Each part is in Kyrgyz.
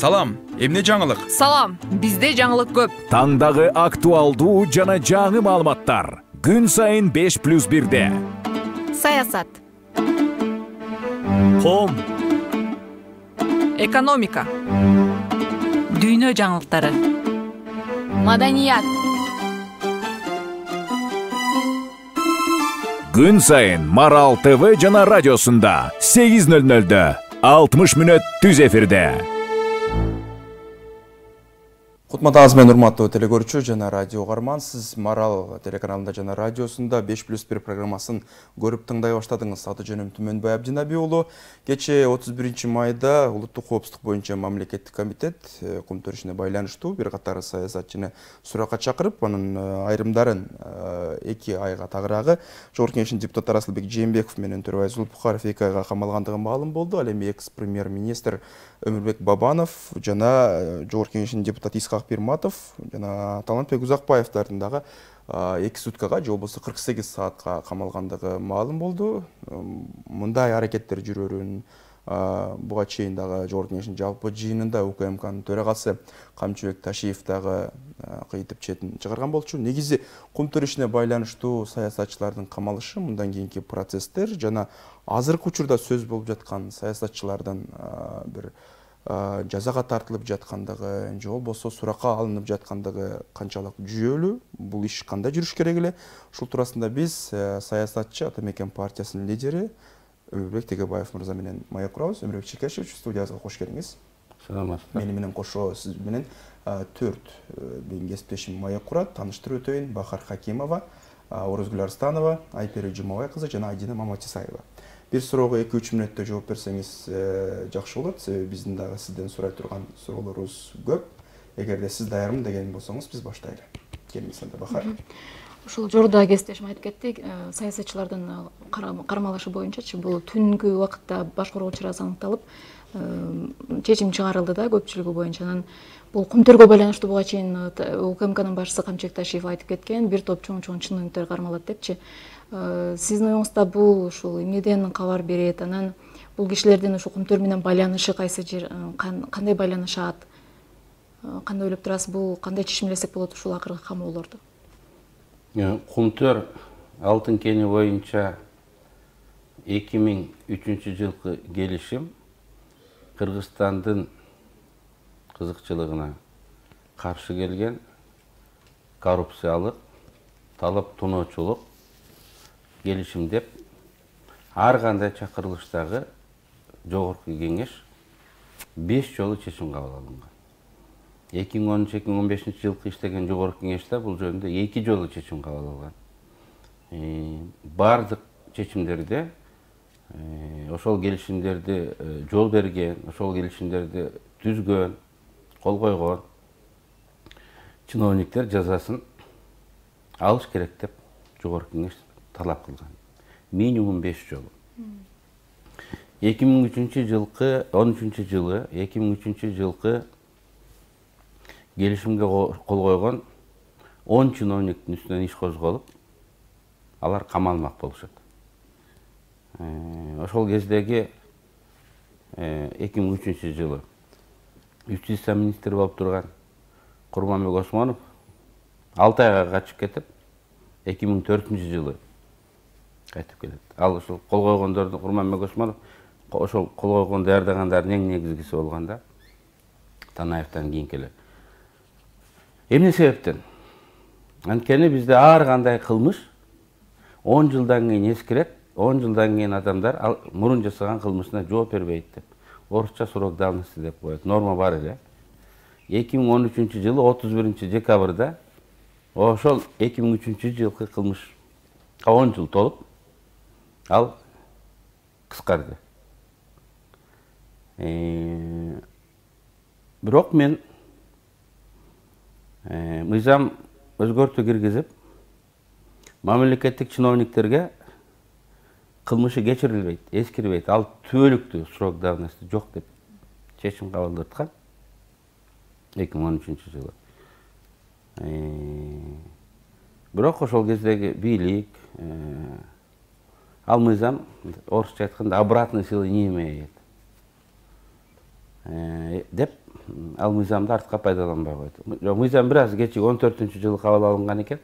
Салам, эмне жаңылык? Салам, бизде жаңылык көп. Таңдагы актуалдуу жана жаңы маалыматтар. Күн сайын 5+1-де. Саясат. Ком. Экономика. Дүйнө жаңылыктары. Маданият. Күн сайын Марал ТВ жана радиосунда 8:00-дө 60 мүнөт түз эфирде. Кутматыңыз менен урматтуу телекөрүүчү жана радио угарман, сиз Марал телеканалында жана радиосунда 5+1 программасын көрүп тыңдай баштадыңыз. Аты жөнүм Түмөнбай Абдинаби уулу. Кечээ 31 майда улуттук коопсуздук боюнча мамлекеттик комитет кум төрүшүнө байланыштуу бир катар саясатчыны суракка чакырып, анын айрымдарын 2 айга тагыраагы Жогорку Кеңештин депутаттары Асылбек Жээнбеков менен Төрөбай Зулпухаров 2 айга камалгандыгы маалым болду. Ал эми экс-премьер-министр Өмүрбек Бабанов жана Жогорку Кеңештин депутаты Исхак Пирматов жана Талантбек Узакбаевдардын дагы 2 суткага же болбосо 48 саатка камалгандыгы маалым болду. Мындай аракеттер жүрөрүн буга чейин дагы Жогорку Кеңештин жалпы жыйынында УКМКнын төрагасы Камчыбек Ташиев дагы кыйтып четин чыгарган болчу. Негизи кум төрүшүнө байланыштуу саясатчылардын камалышы, мындан кийинки процесстер жана азыркы учурда сөз болуп жаткан саясатчылардын бир жазага тартылып жаткандыгы же болбосо суракка алынып жаткандыгы канчалык жүйөлүү, бул иш кандай жүрүш керек эле? Ушул туурасында биз саясатчы Ата Мекен партиясынын лидери Өмүрбек Тегебаев мырза менен маек курабыз. Өмүрбек Чекешевич, студиябызга кош келиңиз. Саламатсыздар. Мени менен кошо сиз менен 4 менин кесиптешим маек курат. Тааныштырып өтөйүн: Бахар Хакимова, Орозгүл Арстанова, Айпери Жумабай кызы жана Айдина Маматисаева. Бир суроого 2-3 мүнөттө жооп берсеңиз жакшы болот. Себеби биздин дагы сизден сурай турган суроолорубуз көп. Эгерде сиз даярмын деген болсоңуз, биз баштайлы. Келиңиз анда, Бахар. Ушул жордо кесиптешим айтып кетти, саясатчылардын кармалышы боюнчачы бул түнгү убакытта башкаруу чарасы аныкталып, чечим чыгарылды да көпчүлүгү боюнча. Анан бул кумтөргө байланыштуу буга чейин УКМКнын башчысы Камчыбек Ташиев айтып кеткен, бир топ чоң чыныгынтар кармалат депчи. Сиздин оюңузда бул ушул эмнеден кабар берет? Анан бул кишилердин ушул кумтөр менен байланышы кайсы жер, кандай байланышат? Кандай ойлоп турасыз, бул кандай чечимлесек болот ушул акыркы камоолорду? Кумтөр Алтын кени боюнча 2003 жылкы келишим Кыргызстандын кызыкчылыгына каршы келген коррупциялык, талап тоноочулук келишим деп ар кандай чакырылыштагы Жогорку Кеңеш 5 жолу чечим кабыл алынган. 2013-2015 жылкы иштеген Жогорку Кеңеште бул жөнүндө 2 жолу чечим кабыл алган. Бардык чечимдерде ошол келишимдерди жол берген, ошол келишимдерди түзгөн, кол койгон чиновниктер жазасын алыш керек деп Жогорку Кеңеш талап кылган. Минимум 5 жолу. 2003 жылкы 13 жылы 2003 жылкы келишимге кол койгон 10 чиновниктин үстүнөн иш козголуп, алар камалмак болушат. Ошол кездеги 2003 жылы юстиция министри болуп турган Курманбек Осмонов 6 айга качып кетип, 2004 жылы кайтып келет. Ал ошол кол койгондордун Курманбек Осмонов ошол кол койгон даярдагандардын эң негизгиси болгон да. Танаевден кийин келет. Эмне себептен? Анткени бизде ар кандай кылмыш 10 жылдан кийин эскирет, 10 жылдан кийин адамдар мурун жасаган кылмышына жооп бербейт деп. Орусча срок давности деп коет. Норма бар эле. 2013 жылы 31 декабрда ошол 2003 жылкы кылмыш 10 жыл толуп, ал кыскарды. Бирок мен мыйзам өзгөртүү киргизип, мамлекеттик чиновниктерге кылмышы кечирилбейт, эскирбейт, ал түбөлүктүү срок давности жок деп чечим кабылдаткан 2013 жылы. Бирок ошол кездеги бийлик ал мыйзам орусча айтканда обратной силы не имеет деп ал мыйзамды артка пайдаланбай койду. Жок, мыйзам бир аз кечиги 14-жылы кабыл алынган экен.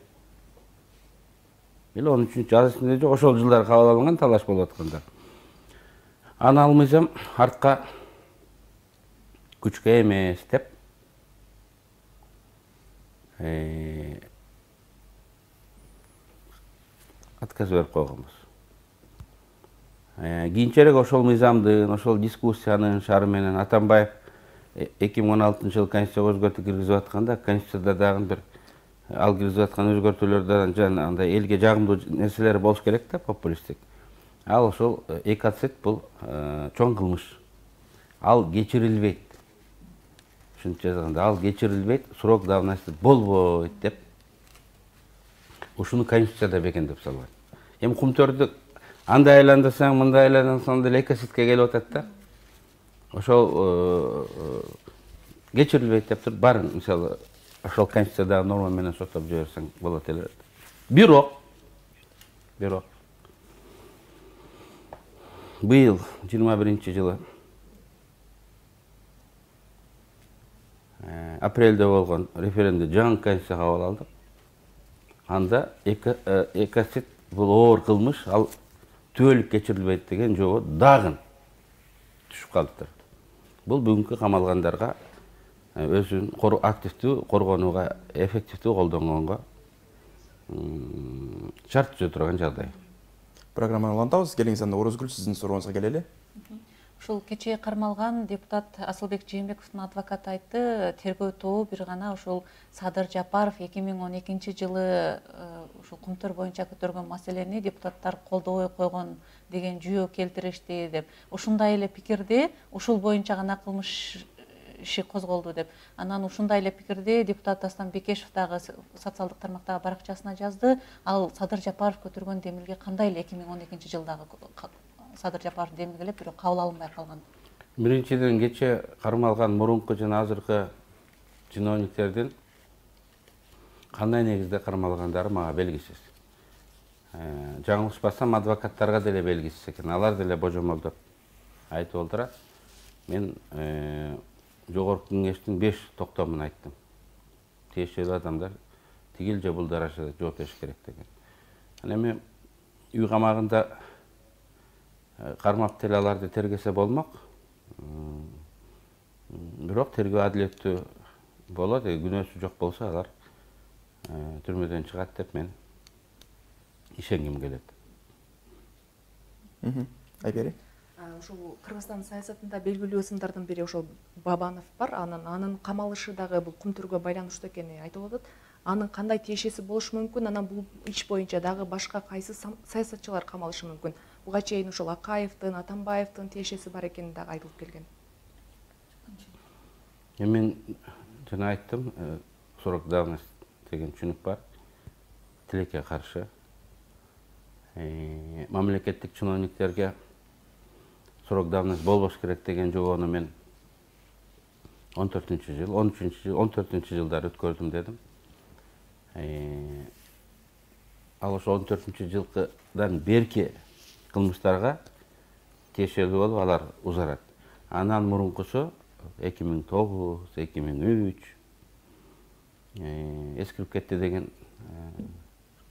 Или 13-жыл аз эсимде жок, ошол жылдары кабыл алынган, талаш болуп атканда. Аны ал мыйзам артка күчкө эмес деп отказ берип койгонбуз. Кийинчерээк ошол мыйзамдын, ошол дискуссиянын шары менен Атамбаев 2016-жылы Конституцияга өзгөртүү киргизип атканда, Конституцияда дагы бир ал киргизип аткан өзгөртүүлөрдөн жана андай элге жагымдуу нерселер болуш керек да, популисттик. Ал ошол экоцид бул чоң кылмыш. Ал кечирилбейт. Ушинтип жазганда, ал кечирилбейт, срок давности болбойт деп ушуну Конституцияда бекемдеп салган. Эми кумтөрдү андай айландырсаң, мындай айландырсаң деле экосидке келип атат да. Ошол кечирилбейт деп туруп баарын, мисалы, ошол Конституциядагы норма менен соттоп жиберсең болот эле. Бирок быйыл 21-жылы апрелде болгон референдумда жаңы конституция кабыл алдык. Анда экоцид бул оор кылмыш, ал түбөлүк кечирилбейт деген жобо дагы түшүп калыптыр. Бул бүгүнкү камалгандарга өзүн активдүү коргонууга, эффективдүү колдонгонго шарт түзө турган жагдай. Программаны улантабыз. Келиңиз, анда Орозгүл, сиздин сурооңузга келели. Ушул кечээ кармалган депутат Асылбек Жээнбековдун адвокаты айтты, тергөө тобу бир гана ушул Садыр Жапаров 2012-жылы ушул Кумтөр боюнча көтөргөн маселени депутаттар колдобой койгон деген жүйө келтиришти деп. Ушундай эле пикирде ушул боюнча гана кылмыш иши козголду деп. Анан ушундай эле пикирде депутат Дастан Бекешев дагы социалдык тармактагы баракчасына жазды. Ал Садыр Жапаров көтөргөн демилге кандай эле 2012-жылдагы Садыр Жапаров демилгелеп, бирок кабыл алынбай калган. Биринчиден, кече кармалган мурунку жана азыркы чиновниктердин кандай негизде кармалгандары мага белгисиз. Жаңылышпасам, адвокаттарга деле белгисиз экен. Алар деле божомолдоп айтып олдурат. Мен жогорку кеңештин 5 токтомун айттым. Тиешелүү адамдар тигил же бул даражада жооп бериш керек деген. Эми үй камагында кармап деле аларды тергесе болмок. Бирок тергөө адилеттүү болот, күнөөсү жок болсо алар түрмөдөн чыгат деп мен ишенгим келет. Айбери. Ушул Кыргызстан саясатында белгилүү сымдардын бири ошол Бабанов бар. Анын камалышы дагы бул Кумтөргө байланыштуу экени айтылып атат. Анын кандай тиешеси болушу мүмкүн? Анан бул иш боюнча дагы башка кайсы саясатчылар камалышы мүмкүн? Буга чейин ошол Акаевдин, Атамбаевдин тиешеси бар экени дагы айтылып келген. Мен жана айттым, срок давности деген түшүнүк бар. Тилекке каршы мамлекеттик чиновниктерге срок давности болбош керек деген жобону мен 14-жыл, 13-жыл, 14-жылдары өткөрдүм дедим. Ал ошо 14-жылдан берки кылмыштарга тиешелүү болуп алар узарат. Анан мурункусу 2009, 2003 эскирип кетти деген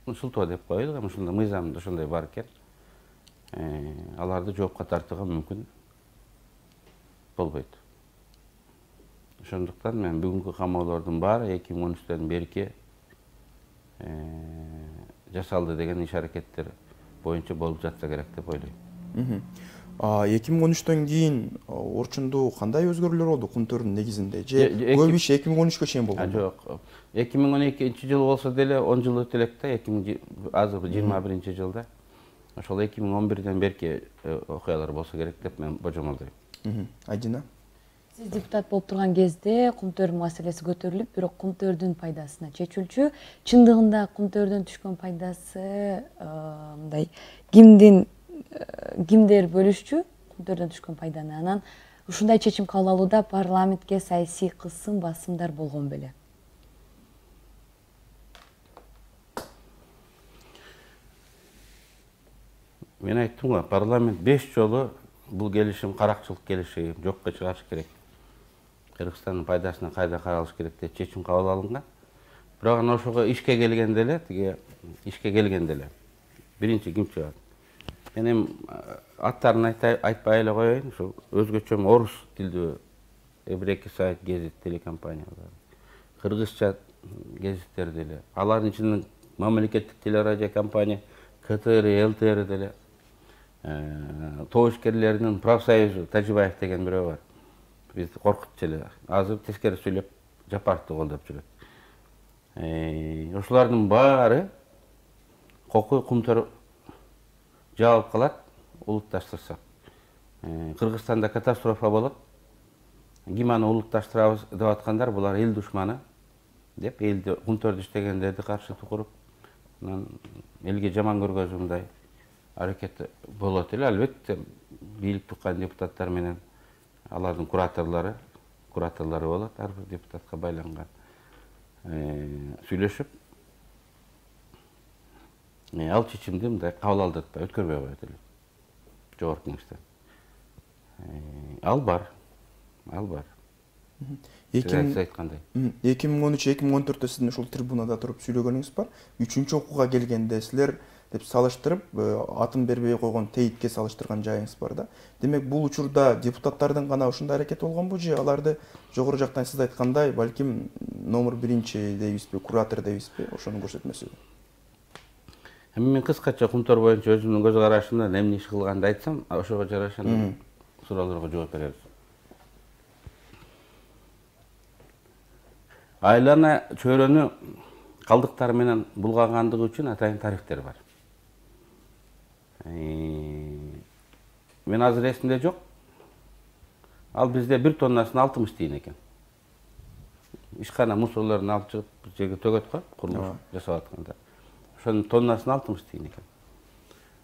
шылтоо деп коелу, ушундай мыйзамда ошондой бар экен. Аларды жоопко тартууга мүмкүн болбойт. Ошондуктан мен бүгүнкү камоолордун баары 2013-төн берки жасалды деген иш аракеттер боюнча болуп жатса керек деп ойлойм. 2013-төн кийин Орчундо кандай өзгөрүүлөр болду Кумтөрдүн негизинде? Же көп иш 2013-кө чейин болгон? Жок. 2012-жылы болсо деле 10 жыл өтө элек да, азыр 21-жылда. Ошол 2011-ден берки окуялар болсо керек деп мен божомолдойм. Айдина? Сиз депутат болуп турган кезде Кумтөр маселеси көтөрүлүп, бирок Кумтөрдүн пайдасына чечилчү. Чындыгында Кумтөрдөн түшкөн пайдасы мындай кимдер бөлүшчү Кумтөрдөн түшкөн пайданы? Анан ушундай чечим кабыл алууда парламентке саясий кысым, басымдар болгон беле? Мен айттым го, парламент 5 жолу бул келишим каракчылык келишим, жокко чыгарыш керек. Кыргызстандын пайдасына кайда каралыш керек деп чечим кабыл алынган. Бирок анан ошого ишке келгенде эле биринчи ким чыгат? Мен эми аттарын айтпай эле коеюн, ушул өзгөчө орус тилдүү бир-эки сайт гезит телекомпаниялар, кыргызча гезиттер деле, алардын ичинде мамлекеттик телерадиокомпания КТР, ЛТР деле, тобушкерлердин профсоюзу Тажибаев деген бирөө бар. Бизди коркутчу эле. Азыр тескери сүйлөп Жапаровду колдоп жүрөт. Ошолордун баары кокуй кумтөр жаап калат, улутташтырсак. Кыргызстанда катастрофа болот. Ким аны улутташтырабыз деп аткандар, булар эл душманы деп, элди кумтөрдү иштегендерди каршы тукуруп, анан элге жаман көргөзүүндай аракет болот эле. Албетте бийлик туккан депутаттар менен алардын кураторлору болот, ар бир депутатка байланган. Сүйлөшүп, ал чечимди мындай кабыл алдыртпай өткөрбөй коет эле. Жогорку кеңештен. Ал бар. 2013-2014 сиздин ушул трибунада туруп сүйлөгөнүңүз бар. 3-чү окууга келгенде силер деп салыштырып, атын бербей койгон тейитке салыштырган жайыңыз бар да. Демек, бул учурда депутаттардын гана ушундай аракети болгонбу же аларды жогору жактан сиз айткандай, балким номер 1 дейбизби, куратор дейбизби, ошонун көрсөтмөсүбү? Мен кыскача кумтөр боюнча өзүмдүн көз карашымдан эмне иш кылганды айтсам, ошого жараша суроолорго жооп беребиз. Айлана чөйрөнү калдыктар менен булгагандыгы үчүн атайын тарифтер бар. Мен азыр эсимде жок. Ал бизде 1 тоннасын 60 тиын экен. Ишкана мусорлорун алып чыгып бир жерге төгөт го, курулуш жасап атканда. Ошонун тоннасын 60 тиын экен.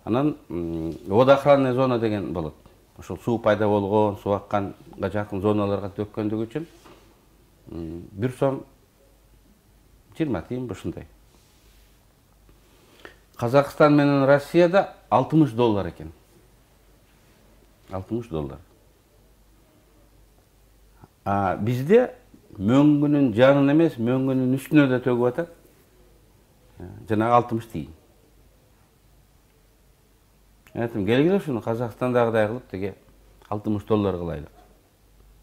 Анан водоохранный зона деген болот. Ошол суу пайда болгон, суу акканга жакын зоналарга төккөндүгү үчүн 1 сом 20 тиын ушундай. Казакстан менен Россияда $60 экен. $60. Бизде мөңгүнүн жанын эмес, мөңгүнүн үстүнө да төгүп атат. Жанагы 60 тиын. Айтым, келгиле ушуну Казакстандагыдай кылып теге $60 кылайлык.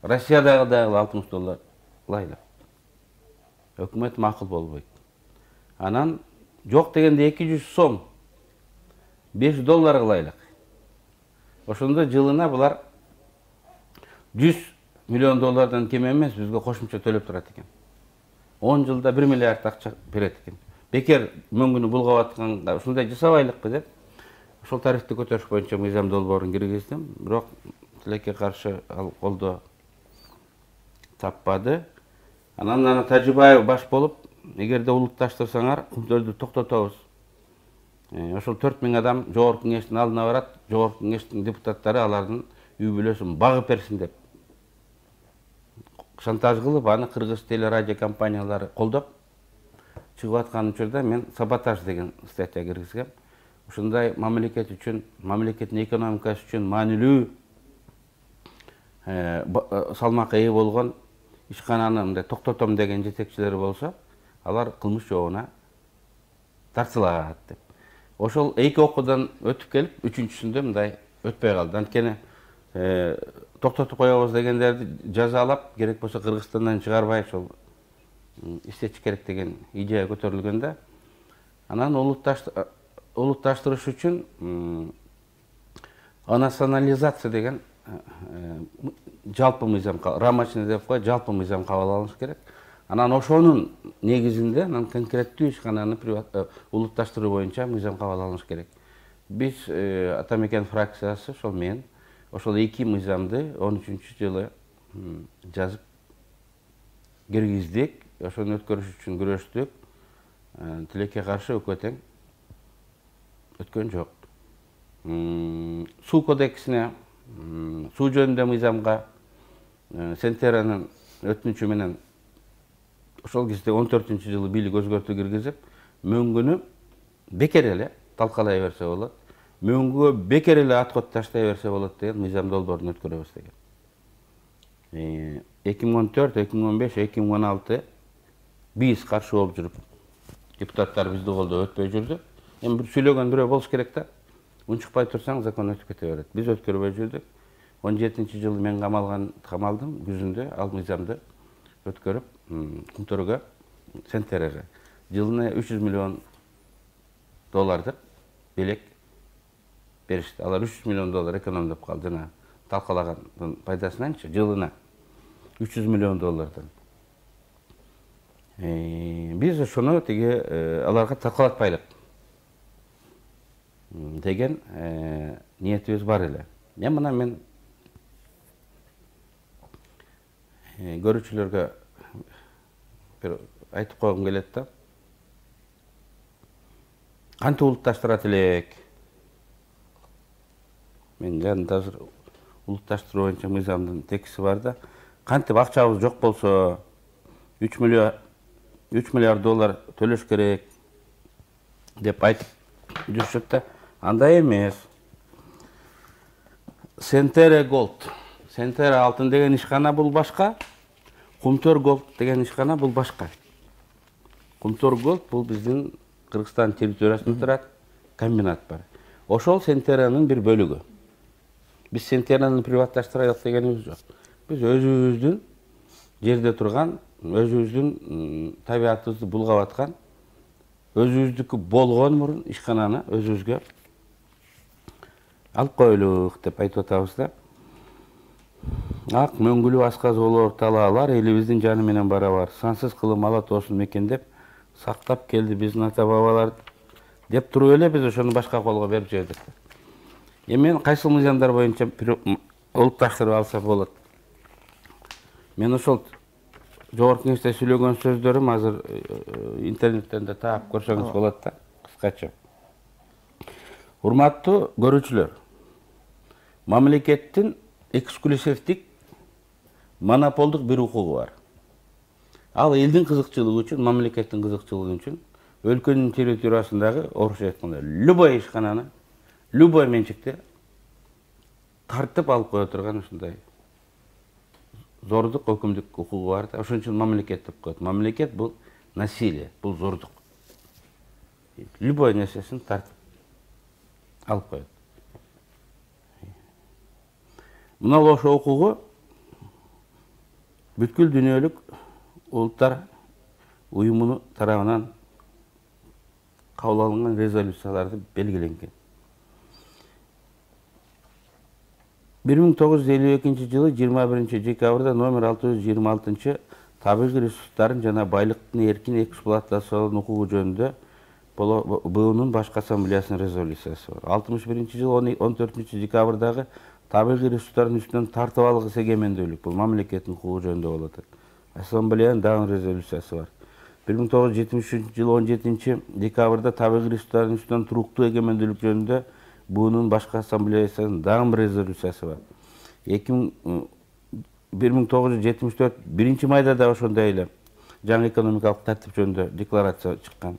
Россиядагыдай $60 кылайлык. Өкмөт макул болбойт. Анан жок дегенде 200 сом $5 кылайлык. Ошондо жылына булар $100 миллион кем эмес бизге кошумча төлөп турат экен. 10 жылда 1 миллиард акча берет экен. Бекер мөңгүнү булгап атканга ушундай жасабайлыкпы деп, ошол тарифти көтөрүш боюнча мыйзам долбоорун киргиздим. Бирок тилекке каршы ал колдоо таппады. Анан Тажибаев баш болуп, эгерде улутташтырсаңар, кумтөрдү токтотобуз. Ошол 4000 адам жогорку кеңештин алдына барат, жогорку кеңештин депутаттары алардын үй бүлөсүн багып берсин деп шантаж кылып, аны кыргыз телерадио компаниялары колдоп чыгып аткан учурда мен саботаж деген статья киргизгем. Ушундай мамлекет үчүн, мамлекеттин экономикасы үчүн маанилүү салмакка ээ болгон ишкананы мындай токтотом деген жетекчилер болсо, алар кылмыш жообуна тартылат деп. Ошол 2 окуудан өтүп келип, 3-чүсүндө мындай өтпөй калды. Анткени токтотуп коебуз дегендерди жазалап, керек болсо Кыргызстандан чыгарбай ошол иштетиш керек деген идея көтөрүлгөндө, анан улутташтырыш үчүн национализация деген жалпы мыйзам, рамочный деп кой, жалпы мыйзам кабыл алыныш керек. Анан ошонун негизинде конкреттүү ишкананы улутташтыруу боюнча мыйзам кабыл алыныш керек. Биз Атамекен фракциясы, ошол мен, ошол 2 мыйзамды 13-жылы жазып киргиздик. Ошону өткөрүш үчүн күрөштүк. Тилекке каршы өкмөт өткөн жок. Суу кодексине, суу жөнүндө мыйзамга Сентеранын өтүнүчү менен ошол кезде 14-жылы бийлик өзгөртүү киргизип, мөңгүнү бекер эле талкалай берсе болот, мөңгүгө бекер эле ат кот таштай берсе болот деген мыйзам долбоорун өткөрөбүз деген. 2014, 2015, 2016 биз каршы болуп жүрүп, депутаттар бизди колдоп өтпөй жүрдү. Эми бир сүйлөгөн бирөө болуш керек да. Унчукпай турсаң, закон өтүп кете берет. Биз өткөрбөй жүрдүк. 17-жылы мен камалдым күзүндө, ал мыйзамды өткөрүп, Кумтөргө, Сентереге жылына $300 миллион белек беришти. Алар $300 миллион экономдоп калды. Жана талкалагандын пайдасынанчы жылына $300 миллион. Биз ошону аларга талкалатпайлык деген ниетибиз бар эле. Мына мен көрүүчүлөргө бир айтып койгум келет да. Кантип улутташтырат элек? Мен азыр улутташтыруу боюнча мыйзамдын текsti бар да. Кантип акчабыз жок болсо $3 миллиард төлөш керек деп айтып жүрүшөт да. Андай эмес. Сентере Голд, Сентере алтын деген ишкана бул башка, Кумтөр Голд деген ишкана бул башка. Кумтөр Голд бул биздин Кыргызстан территориясында турат комбинат бар. Ошол Сентеренин бир бөлүгү. Биз Сентерени приватташтырайлык дегенибиз жок. Биз өзүбүздүн жерде турган, өзүбүздүн табиятыбызды булгап аткан, өзүбүздүкү болгон мурун ишкананы өзүбүзгө алып коелук деп айтып атабыз да. Ак мөңгүлүү асказ болор талаалар элибиздин жаны менен барабар. Сансыз кылым ала тоосын мекендеп, сактап келди биздин ата бабалар деп туруп эле биз ошону башка колго берип жибердик. Мен кайсы мыйзамдар боюнча улутташтырып алса болот. Мен ошол жогорку кеңеште сүйлөгөн сөздөрүм азыр интернеттен да таап көрсөңүз болот да, кыскача. Урматтуу көрүүчүлөр, мамлекеттин эксклюзивдик монополдук бир укугу бар. Ал элдин кызыкчылыгы үчүн, мамлекеттин кызыкчылыгы үчүн өлкөнүн территориясындагы орусча айтканда любой ишкананы, любой менчикте тартып алып кое турган ушундай зордук өкүмдүк укугу бар да. Ошон үчүн мамлекет деп коет. Мамлекет бул насилие, бул зордук. Любой нерсесин тартып алып коет. Мына ошол укугу бүткүл дүйнөлүк улуттар уюмунун тарабынан кабыл алынган резолюцияларды белгиленген. 1952 жылы 21 декабрда номер 626 табигый ресурстарын жана байлыктын эркин эксплуатациялоо укугу жөнүндө БУнун башкы ассамблеясынын резолюциясы бар. 61 жылы 14 декабрдагы табигый ресурстардын үстүнөн тартып алгыс эгемендүүлүк бул мамлекеттин укугу жөнүндө болот. Ассамблеянын дагы резолюциясы бар. 1973 жылы 17 декабрда табигый ресурстардын үстүнөн туруктуу эгемендүүлүк жөнүндө БУнун башкы ассамблеясынын дагы бир резолюциясы бар. 1974 1 майда да ошондой эле жаңы экономикалык тартип жөнүндө декларация чыккан.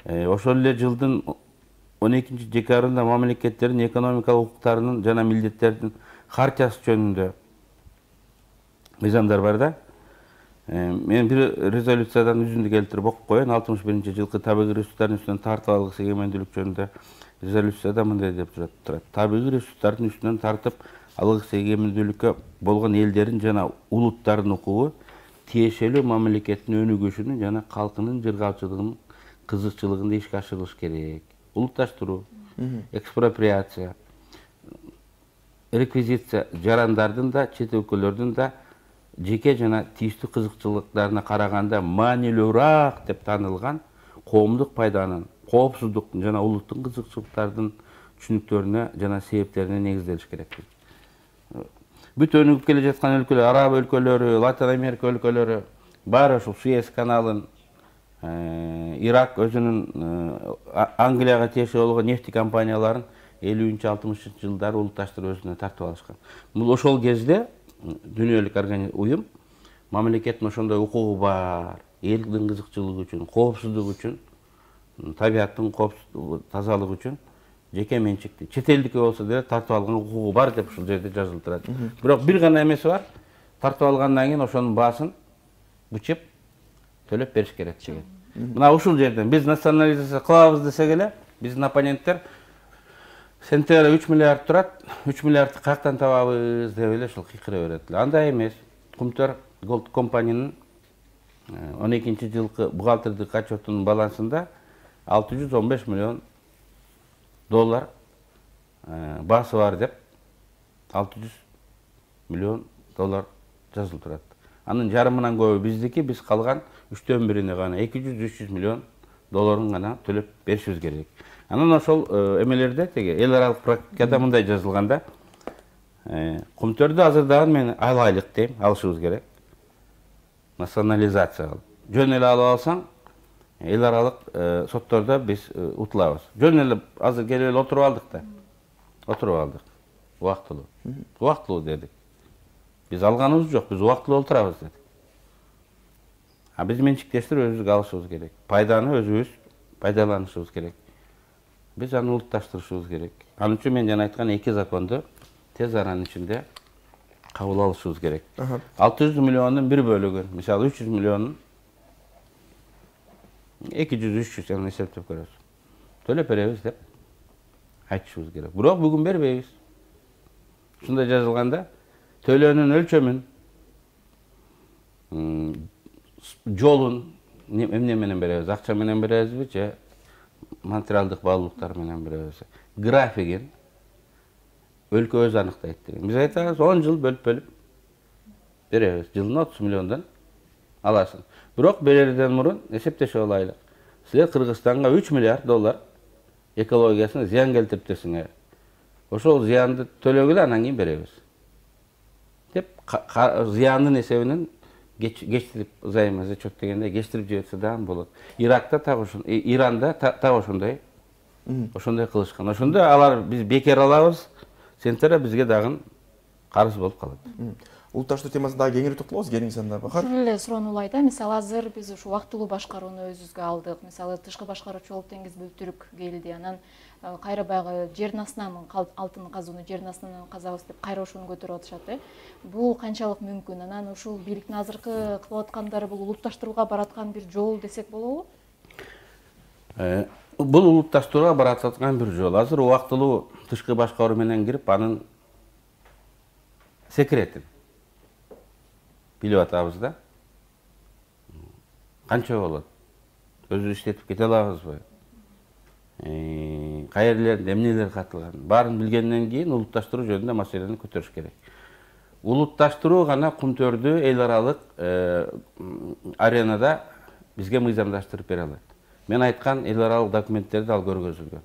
Ошол эле жылдын 12 декабрында мамлекеттердин экономикалык укуктарынын жана милдеттердин хартиясы жөнүндө мыйзамдар бар да. Мен бир резолюциядан үзүндү келтирип окуп коеюн. 61 жылкы табигый ресурстардын үстүнөн тартып алгыс эгемендүүлүк жөнүндө резолюцияда мындай деп турат. Табигый ресурстардын үстүнөн тартып алгыс эгемендүүлүккө болгон элдердин жана улуттардын укугу тиешелүү мамлекеттин өнүгүшүнүн жана калкынын жыргалчылыгынын кызыкчылыгында ишке ашырылыш керек. Улутташтыруу, экспроприация, реквизиция жарандардын да, чет өлкөлөрдүн да жеке жана тийиштүү кызыкчылыктарына караганда маанилүүрөөк деп таанылган коомдук пайданын, коопсуздуктун жана улуттук кызыкчылыктардын түшүнүктөрүнө жана себептерине негизделиш керек. Бүт өнүгүп келе жаткан өлкөлөр, араб өлкөлөрү, Латин Америка өлкөлөрү баары ушул Суэц каналын, Ирак өзүнүн Англияга тиешелүү болгон нефть компанияларын 50-60 жылдары улутташтырып өзүнө тартып алышкан. Бул ошол кезде дүйнөлүк уюм мамлекеттин ошондой укугу бар, элдин кызыкчылыгы үчүн, коопсуздук үчүн, табияттын тазалыгы үчүн жеке менчикти чет элдики болсо деле тартып алган укугу бар деп ушул жерде жазылып турат. Бирок бир гана эмеси бар. тартып алгандан кийин ошонун баасын бычып төлөп бериш керек деген. Мына ушул жерден биз национализация кылабыз десек эле, биздин оппоненттер сентябрь 3 миллиард турат, 3 миллиардты каяктан табабыз деп эле ушул кыйкыра берет эле. Андай эмес. Кумтөр Gold компаниянын 12-жылкы бухгалтердик отчетунун балансында 615 миллион доллар баасы бар деп 600 миллион доллар жазылып турат. Анын жарымынан көбү биздики, биз калган 3/1 гана 200-300 миллион долларын гана төлөп беришибиз керек. Анан ошол эмелерде теге эл аралык практикада мындай жазылганда Кумтөрдү азыр дагы мен айлык дейм, алышыбыз керек. Национализация кылып. Жөн эле алып алсаң, эл аралык соттордо биз утулабыз. Жөн эле азыр келип эле отуруп алдык да. Отуруп алдык. Убактылуу. Убактылуу дедик. Биз алганыбыз жок, биз убактылуу отурабыз дедик. Биз менчиктештирип өзүбүзгө алышыбыз керек. Пайданы өзүбүз пайдаланышыбыз керек. Биз аны улутташтырышыбыз керек. Анын үчүн мен жана айткан 2 законду тез аранын ичинде кабыл алышыбыз керек. 600 миллиондун бир бөлүгүн, мисалы 300 миллионун 200-300 жана эсептеп көрөбүз. Төлөп беребиз деп айтышыбыз керек. Бирок бүгүн бербейбиз. Ушундай жазылганда төлөөнүн өлчөмүн, жолун эмне менен беребиз? Акча менен беребизби же материалдык баалуулуктар менен беребиз? Графигин өлкө өзү аныктайт деген. Биз айтабыз 10 жыл бөлүп беребиз. Жылына 30 миллиондон аласың. Бирок берерден мурун эсептешип алайлык. Силер Кыргызстанга 3 миллиард доллар экологиясына зыян келтириптесиңер. Ошол зыянды төлөгүлө анан кийин беребиз. Деп зыяндын эсебинен кечтирип займазачет дегенде кечтирип жиберсе дагы болот. Иракта так Иранда так ошондой кылышкан. Ошондо алар биз бекер алабыз, сентябрда бизге дагы карыз болуп калат. Улутташтыруу темасына дагы кеңири токтолобуз кийинки санда Бахар. Ушул эле суроону да, мисалы азыр биз ушу убактылуу башкарууну өзүбүзгө алдык. Мисалы тышкы башкаруучу болуп Теңиз Бөлтүрүк келди. Анан кайра баягы жердин астынан алтын казууну жердин астынан казабыз деп кайра ушуну көтөрүп атышат. Бул канчалык мүмкүн? Анан ушул бийликтин азыркы кылып аткандары бул улутташтырууга бараткан бир жол десек болобу? Бул улутташтырууга бараткан бир жол. Азыр убактылуу тышкы башкаруу менен кирип, анын секретин билип атабыз да. Канча болот? Өзү иштетип кете алабызбы? Кайерлерде эмнелер катылган? Баарын билгенден кийин улутташтыруу жөнүндө маселени көтөрүш керек. Улутташтыруу гана Кумтөрдү эл аралык аренада бизге мыйзамдаштырып бере алат. Мен айткан эл аралык документтерди ал көргөзүлгөн.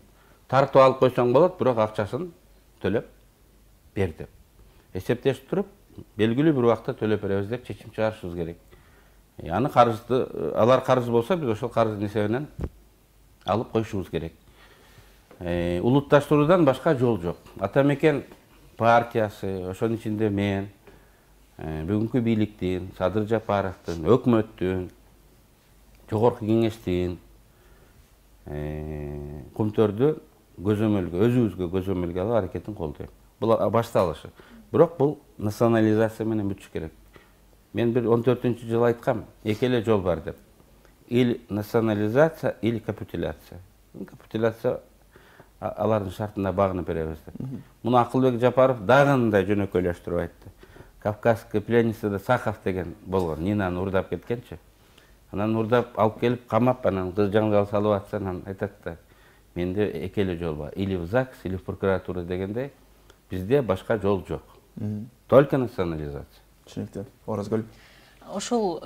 Тартып алып койсоң болот, бирок акчасын төлөп бер деп. Эсептешип туруп, белгилүү бир убакта төлөп беребиз деп чечим чыгарышыбыз керек. Аны карызды, алар карыз болсо, биз ошол карыздын эсебинен алып коюшубуз керек. Улутташтыруудан башка жол жок. Ата Мекен партиясы, ошонун ичинде мен, бүгүнкү бийликтин, Садыр Жапаровдун, өкмөттүн, жогорку кеңештин Кумтөрдү көзөмөлгө, өзүбүзгө көзөмөлгө алып аракетин колдойм. Бул башталышы. Бирок бул национализация менен бүтүш керек. Мен бир 14-жылы айткам, эки эле жол бар деп. Или национализация, или капитуляция. Капитуляция алардын шартына багынып беребиз деп. Муну Акылбек Жапаров дагы мындай жөнөкөйлөштүрүп айтты. Кавказский пленницада Сахов деген болгон, Нинаны урдап кеткенчи. Анан урдап алып келип камап, анан кыз жаңжал салып атса, анан айтат да, менде эки эле жол бар. Или в ЗАГС, или в прокуратура дегендей, бизде башка жол жок. Только национализация. Түшүнүктүү. Оразгүл. Ошол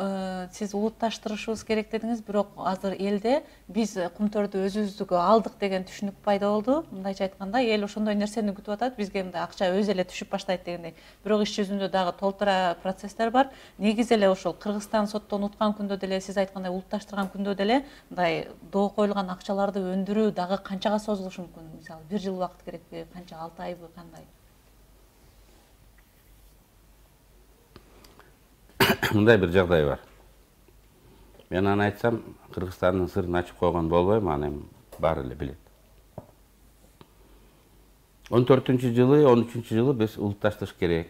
сиз улутташтырышыбыз керек дедиңиз, бирок азыр элде биз Кумтөрдү өзүбүздүгө алдык деген түшүнүк пайда болду. Мындайча айтканда, эл ошондой нерсени күтүп атат, бизге мындай акча өзү эле түшүп баштайт дегендей. Бирок иш жүзүндө дагы толтура процесстер бар. Негизи эле ошол Кыргызстан соттон уткан күндө деле, сиз айткандай улутташтырган күндө деле мындай доо коюлган акчаларды өндүрүү дагы канчага созулушу мүмкүн? Мисалы, 1 жыл убакыт керекпи, канча, 6 айбы, кандай? Мындай бир жагдай бар. Мен аны айтсам, Кыргызстандын сырын ачып койгон болбойм, аны баары эле билет. 14-жылы, 13-жылы биз улутташтырыш керек.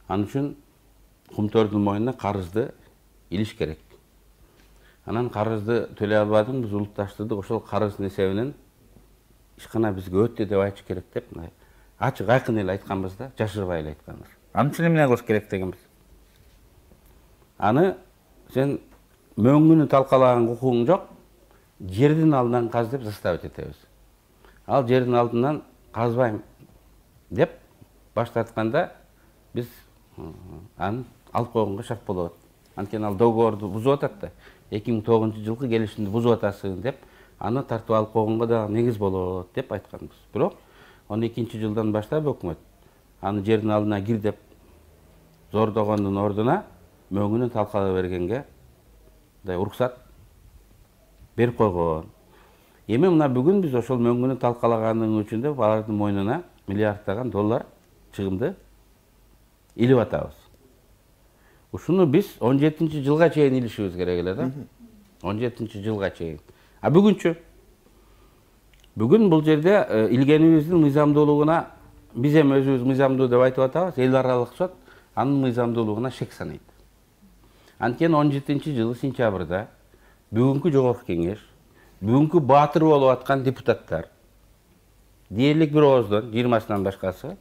Ал үчүн кумтөрдүн мойнуна карызды илиш керек. Анан карызды төлөй албадыңбыз, улутташтырдык. Ошол карыздын эсебинен ишкана бизге өттү деп айтыш керек деп ачык айкын эле айтканбыз да, жашырбай эле айтканбыз. Аны үчүн эмне кылыш керек дегенбиз. Аны сен мөңгүнү талкалаган укугуң жок, жердин алдынан каз деп заставить этебиз. Ал жердин алдынан казбайм деп баш тартканда биз аны алып койгонго шарт болот. Анткени ал договорду бузуп атат да. 2009-жылкы келишимди бузуп атасың деп аны тартып алып койгонго да негиз болот деп айтканбыз. Бирок 12-жылдан баштап өкмөт аны жердин алдына кир деп зордогондун ордуна мөңгүнү талкалай бергенге уруксат берип койгон. Эми мына бүгүн биз ошол мөңгүнү талкалагандын үчүн деп алардын мойнуна миллиарддаган доллар чыгымды илип атабыз. Ушуну биз 17-жылга чейин илишибиз керек эле да. 17-жылга чейин. А бүгүнчү? Бүгүн бул жерде илгенибиздин мыйзамдуулугуна биз эми өзүбүз мыйзамдуу деп айтып атабыз, эл аралык сот анын мыйзамдуулугуна шек санайт. Анткени 17-жылы сентябрда бүгүнкү жогорку кеңеш, бүгүнкү баатыр болуп аткан депутаттар дээрлик бир ооздон 20-сынан башкасы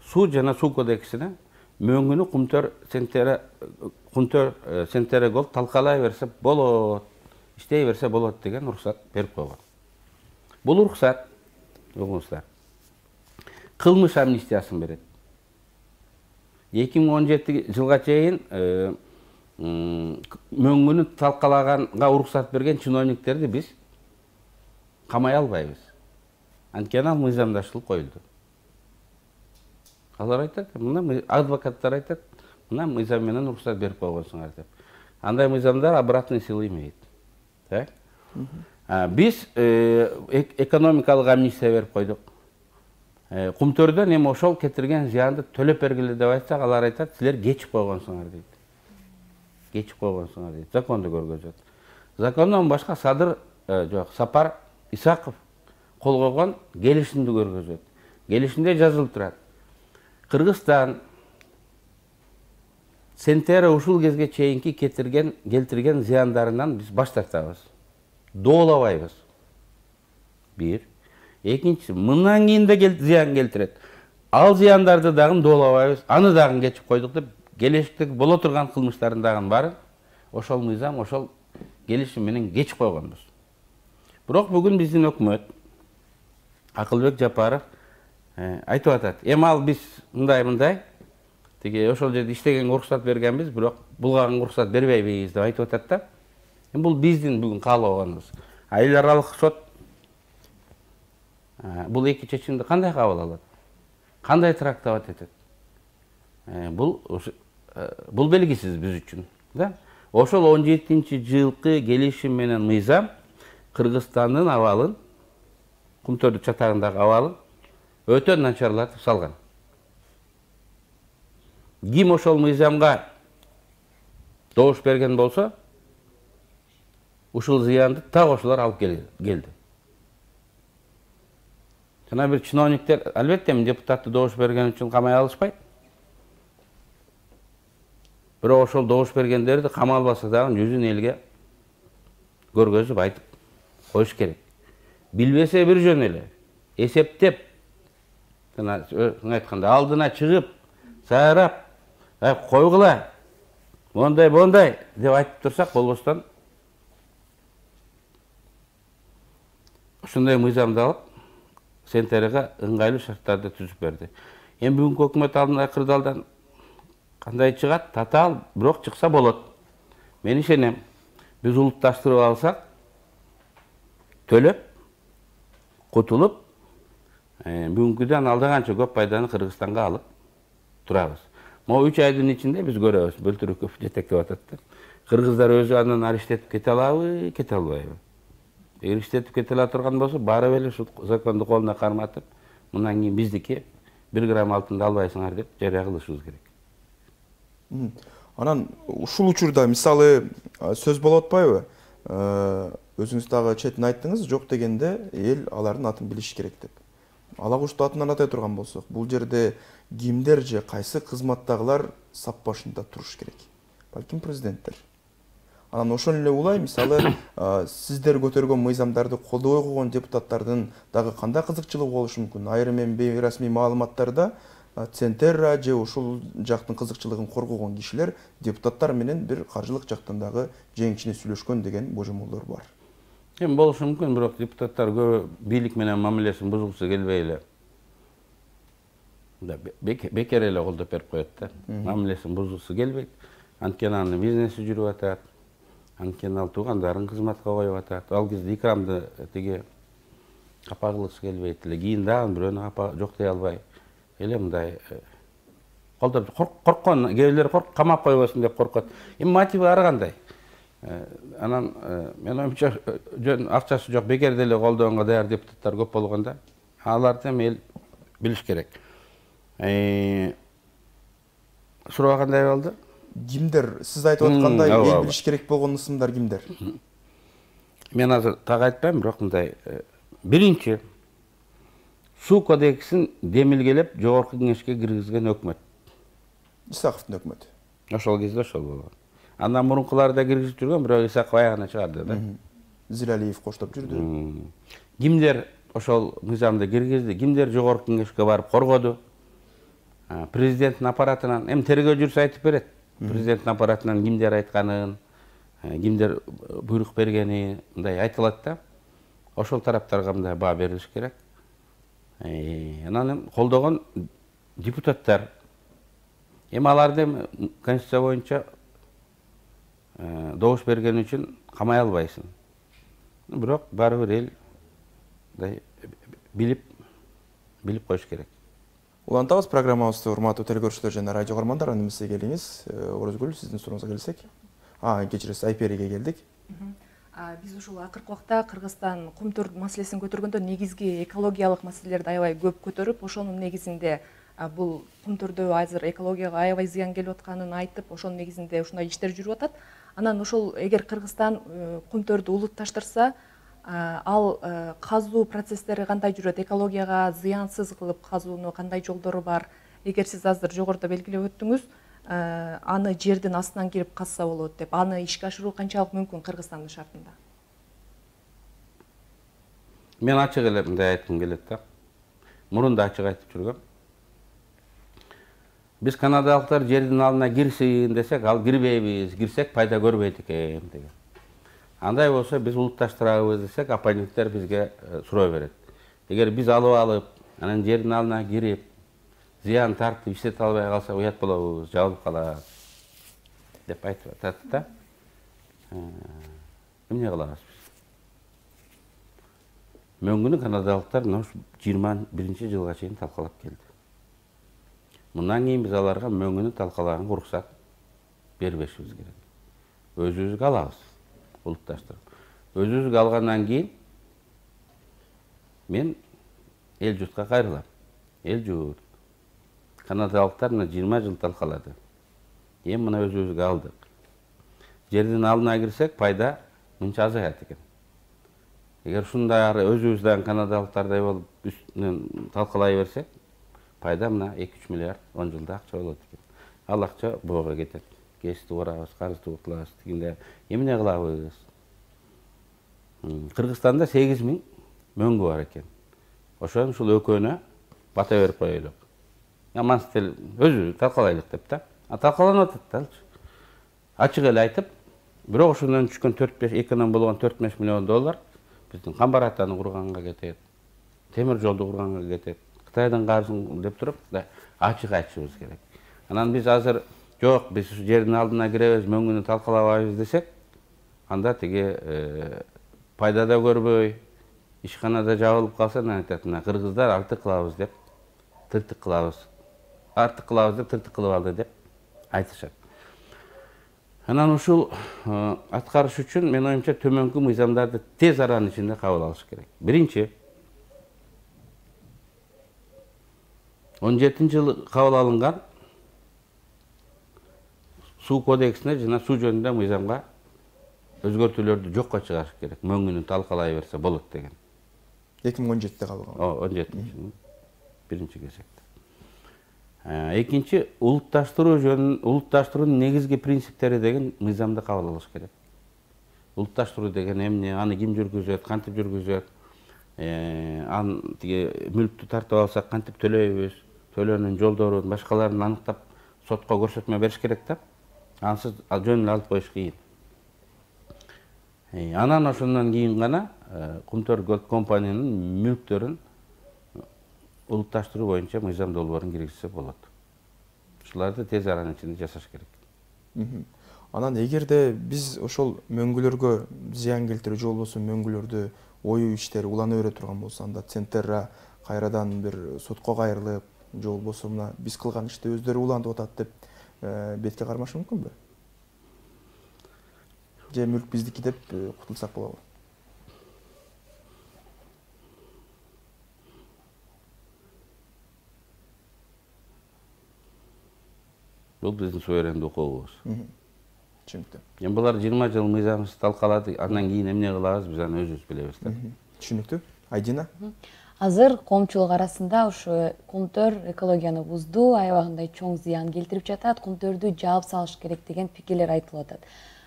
суу жана суу кодексине мөңгүнү кумтөр сентере гол талкалай берсе болот, иштей берсе болот деген уруксат берип койгон. Бул уруксат угуңуздар кылмыш амнистиясын берет. 2017-жылга чейин мөңгүнү талкалаганга уруксат берген чиновниктерди биз камай албайбыз. Анткени ал мыйзамдаштылык коюлду. Алар айтат, мына адвокаттар айтат, мына мыйзам менен уруксат берип койгонсуңар деп. Андай мыйзамдар обратный силы имеет. Так? Биз экономикалык амнистия берип койдук. Кумтөрдөн эми ошол кетирген зыянды төлөп бергиле деп айтсак, алар айтат, силер кечип койгонсуңар дейт. Кечип койгонсуңар дейт. Законду көргөзөт. Закондон башка Сапар Исаков кол койгон келишимди көргөзөт. Келишимде жазылып турат. Кыргызстан Сентере ушул кезге чейинки келтирген зыяндарынан биз баш тартабыз. Доолабайбыз. Бир. Экинчиси, мындан кийин да зыян келтирет. Ал зыяндарды дагы доолабайбыз, аны дагы кечип койдук деп, келечектеги боло турган кылмыштардын дагы баарын ошол мыйзам, ошол келишим менен кечип койгонбуз. Бирок бүгүн биздин өкмөт Акылбек Жапаров айтып атат. Эми ал биз мындай тиги ошол жерде иштегенге уруксат бергенбиз, бирок булганга уруксат бербейбиз деп айтып атат да. Эми бул биздин бүгүн каалообуз. Эл аралык сот бул эки чечимди кандай кабыл алат? Кандай трактовать этет? Бул белгисиз биз үчүн, да? Ошол 17-жылкы келишим менен мыйзам Кыргызстандын абалын, Кумтөрдүн чатагындагы абалын өтө начарлатып салган. Ким ошол мыйзамга добуш берген болсо, ушул зыянды так ошолор алып келди. Жана бир чиновниктер, албетте, депутатты добуш берген үчүн камай алышпайт. Бирок ошол добуш бергендерди камалбаса дагы жүзүн элге көргөзүп айтып коюш керек. Билбесе бир жөн эле, эсептеп, айтканда алдына чыгып, сайрап, койгула, мондай деп айтып турсак болбостон ошондой мыйзамды алып Сентереге ыңгайлуу шарттарды түзүп берди. Эми бүгүнкү өкмөт алдында кырдаалдан кандай чыгат? Татаал, бирок чыкса болот. Мен ишенем. Биз улутташтырып алсак, төлөп, кутулуп, бүгүнкүдөн алдаганча көп пайданы Кыргызстанга алып турабыз. Могу 3 айдын ичинде биз көрөбүз, бөлтүрүк көп жетектеп атат. Кыргыздар өзү андан ариштетип кете алабы, кете албайбы? Эгер иштетип кете ала турган болсо, барып эле ушул законду колуна карматып, мындан кийин биздики 1 грамм алтынды албайсыңар деп жарыя кылышыбыз керек. Анан ушул учурда мисалы сөз болуп атпайбы? Өзүңүз дагы четин айттыңыз, жок дегенде эл алардын атын билиш керек деп. ала кушту атынан атай турган болсок, бул жерде кимдер же кайсы кызматтагылар сап башында туруш керек? Балким президенттер. Анан ошол эле улай, мисалы, сиздер көтөргөн мыйзамдарды колдобой койгон депутаттардын дагы кандай кызыкчылыгы болушу мүмкүн? Айрым эми бейрасмий маалыматтарда Центерра же ушул жактын кызыкчылыгын коргогон кишилер депутаттар менен бир каржылык жактан дагы жеңишине сүйлөшкөн деген божомолдор бар. Эми болушу мүмкүн, бирок депутаттар көбү бийлик менен мамилесин бузгусу келбей эле бекер эле колдоп берип коет да. Мамилесин бузгусу келбейт. Анткени анын бизнеси жүрүп атат. Анткени ал туугандарын кызматка коюп атат. Ал кезде икрамды тиги капагылгысы келбейт эле. Кийин дагы бирөөнү жоктой албай эле мындай колдоп корккон, кээ бирлер камап койбосун деп коркот. Эми мотиви ар кандай. Анан мен оюмча жөн акчасы жок бекер деле колдогонго даяр депутаттар көп болгондо аларды эми эл билиш керек. Суроо кандай болду? Кимдер сиз айтып аткандай эл билиш керек болгон ысымдар кимдер? Мен азыр так айтпайм, бирок мындай биринчи суу кодексин демилгелеп жогорку кеңешке киргизген өкмөт. Исаковдун өкмөтү. Ошол кезде ошол болгон. Андан мурункулар да киргизип жүргөн, бирок Исаков аягына чыгарды да. Зилалиев коштоп жүрдү. Кимдер ошол мыйзамды киргизди, кимдер жогорку кеңешке барып коргоду? Президенттин аппаратынан, эми тергөө жүрсө айтып берет. Президенттин аппаратынан кимдер айтканын, кимдер буйрук бергени, мындай айтылат да. Ошол тараптарга мындай баа берилиш керек. Анан колдогон депутаттар, эми аларды конституция боюнча добуш берген үчүн камай албайсың. Бирок баары бир эл билип коюш керек. Улантабыз программабызды, урматтуу телекөрүүчүлөр жана радио көрөрмандар, эмесе келиңиз. Орозгүл, сиздин сурооңузга келсек. Кечиресиз, Айпериге келдик. Биз ушул акыркы убакта Кыргызстан кум төр маселесин көтөргөндө негизги экологиялык маселелерди аябай көп көтөрүп, ошонун негизинде бул кум төрдө азыр экологияга аябай зыян келип атканын айтып, ошонун негизинде ушундай иштер жүрүп атат. Анан ошол эгер Кыргызстан кум төрдү улутташтырса, ал казуу процесстери кандай жүрөт, экологияга зыянсыз кылып казууну кандай жолдору бар? Эгер сиз азыр жогоруда белгилеп өттүңүз, аны жердин астынан кирип казса болот деп, аны ишке ашыруу канчалык мүмкүн Кыргызстандын шартында? Мен ачык эле мындай айткым келет да. Мурун да ачык айтып жүргөм. Биз канадалыктар жердин алдына кирсин десек, ал кирбейбиз, кирсек пайда көрбөйт экен деген. Андай болсо биз улутташтырабыз десек, оппоненттер бизге суроо берет. Эгер биз алып, анан жердин алдына кирип, зыян тартып иштете албай калсак уят болобуз, жабылып калат деп айтып атат да. Эмне кылабыз биз? Мөңгүнү канадалыктар 21-жылга чейин талкалап келди. Мындан кийин биз аларга мөңгүнү талкалаганга уруксат бербешибиз керек. Өзүбүзгө алабыз, улутташтырып. Өзүбүзгө алгандан кийин мен эл журтка кайрылам. Эл журт канадалыктар 20 жыл талкалады. Эми мына өзүбүзгө алдык. Жердин алдына кирсек, пайда мынча азаят экен. Эгер ушундай өзүбүздөн канадалыктардай болуп үстүнөн талкалай берсек, пайда мына 2-3 миллиард 10 жылда акча болот экен. Ал акча боого кетет. Кести урабыз, карызды утулабыз дегенде эмне кылабыз? Кыргызстанда 8000 мөңгү бар экен. Ошон ушул экөөнө бата берип коелук. Амансыз өзү талкалайлык деп да. Талкаланып атат да. Ачык эле айтып, бирок ошондон түшкөн 4-5 эконом болгон 4-5 миллион доллар биздин Камбаратаны курганга кетет. Темир жолду курганга кетет. Кытайдын карызын деп туруп, ачык айтышыбыз керек. Анан биз азыр жок, биз жердин алдына киребиз, мөңгүнү талкалабайбыз десек, анда тиги пайда да көрбөй, ишканада жабылып калса, айтат, мына кыргыздар артык кылабыз деп, тыртык кылабыз. Артык кылабыз деп, тыртык кылып алды деп айтышат. Анан ушул аткарыш үчүн мен оюмча төмөнкү мыйзамдарды тез аранын ичинде кабыл алыш керек. Биринчи 17-жылы кабыл алынган суу кодексине жана суу жөнүндө мыйзамга өзгөртүүлөрдү жокко чыгарыш керек. Мөңгүнү талкалай берсе болот деген. 2017-де кабыл алынган. 17-жылы. биринчи кезекте. Экинчи, улутташтыруунун негизги принциптери деген мыйзамды кабыл алыш керек. Улутташтыруу деген эмне, аны ким жүргүзөт, кантип жүргүзөт, тиги мүлктү тартып алсак кантип төлөйбүз, төлөөнүн жолдорун, башкаларын аныктап сотко көрсөтмө бериш керек да. Ансыз жөн эле алып коюш кыйын. Анан ошондон кийин гана Кумтөр Gold компаниянын мүлктөрүн улутташтыруу боюнча мыйзам долбоорун киргизсе болот. Ушуларды тез аранын ичинде жасаш керек. Анан эгерде биз ошол мөңгүлөргө зыян келтирүү же болбосо мөңгүлөрдү оюу иштери улана бере турган болсо, анда Центерра кайрадан бир сотко кайрылып, же болбосо мына биз кылган ишти өздөрү улантып атат деп бетке кармашы мүмкүнбү? Же мүлк биздики деп кутулсак болобу? Бул биздин суверендүү укугубуз. Түшүнүктүү. Эми булар 20 жыл мыйзамыбызды талкалады, андан кийин эмне кылабыз, биз аны өзүбүз билебиз да. Түшүнүктүү. Айдина? Азыр коомчулук арасында ушу Кумтөр экологияны бузду, аябагындай чоң зыян келтирип жатат, Кумтөрдү жаап салыш керек деген пикирлер айтылып атат.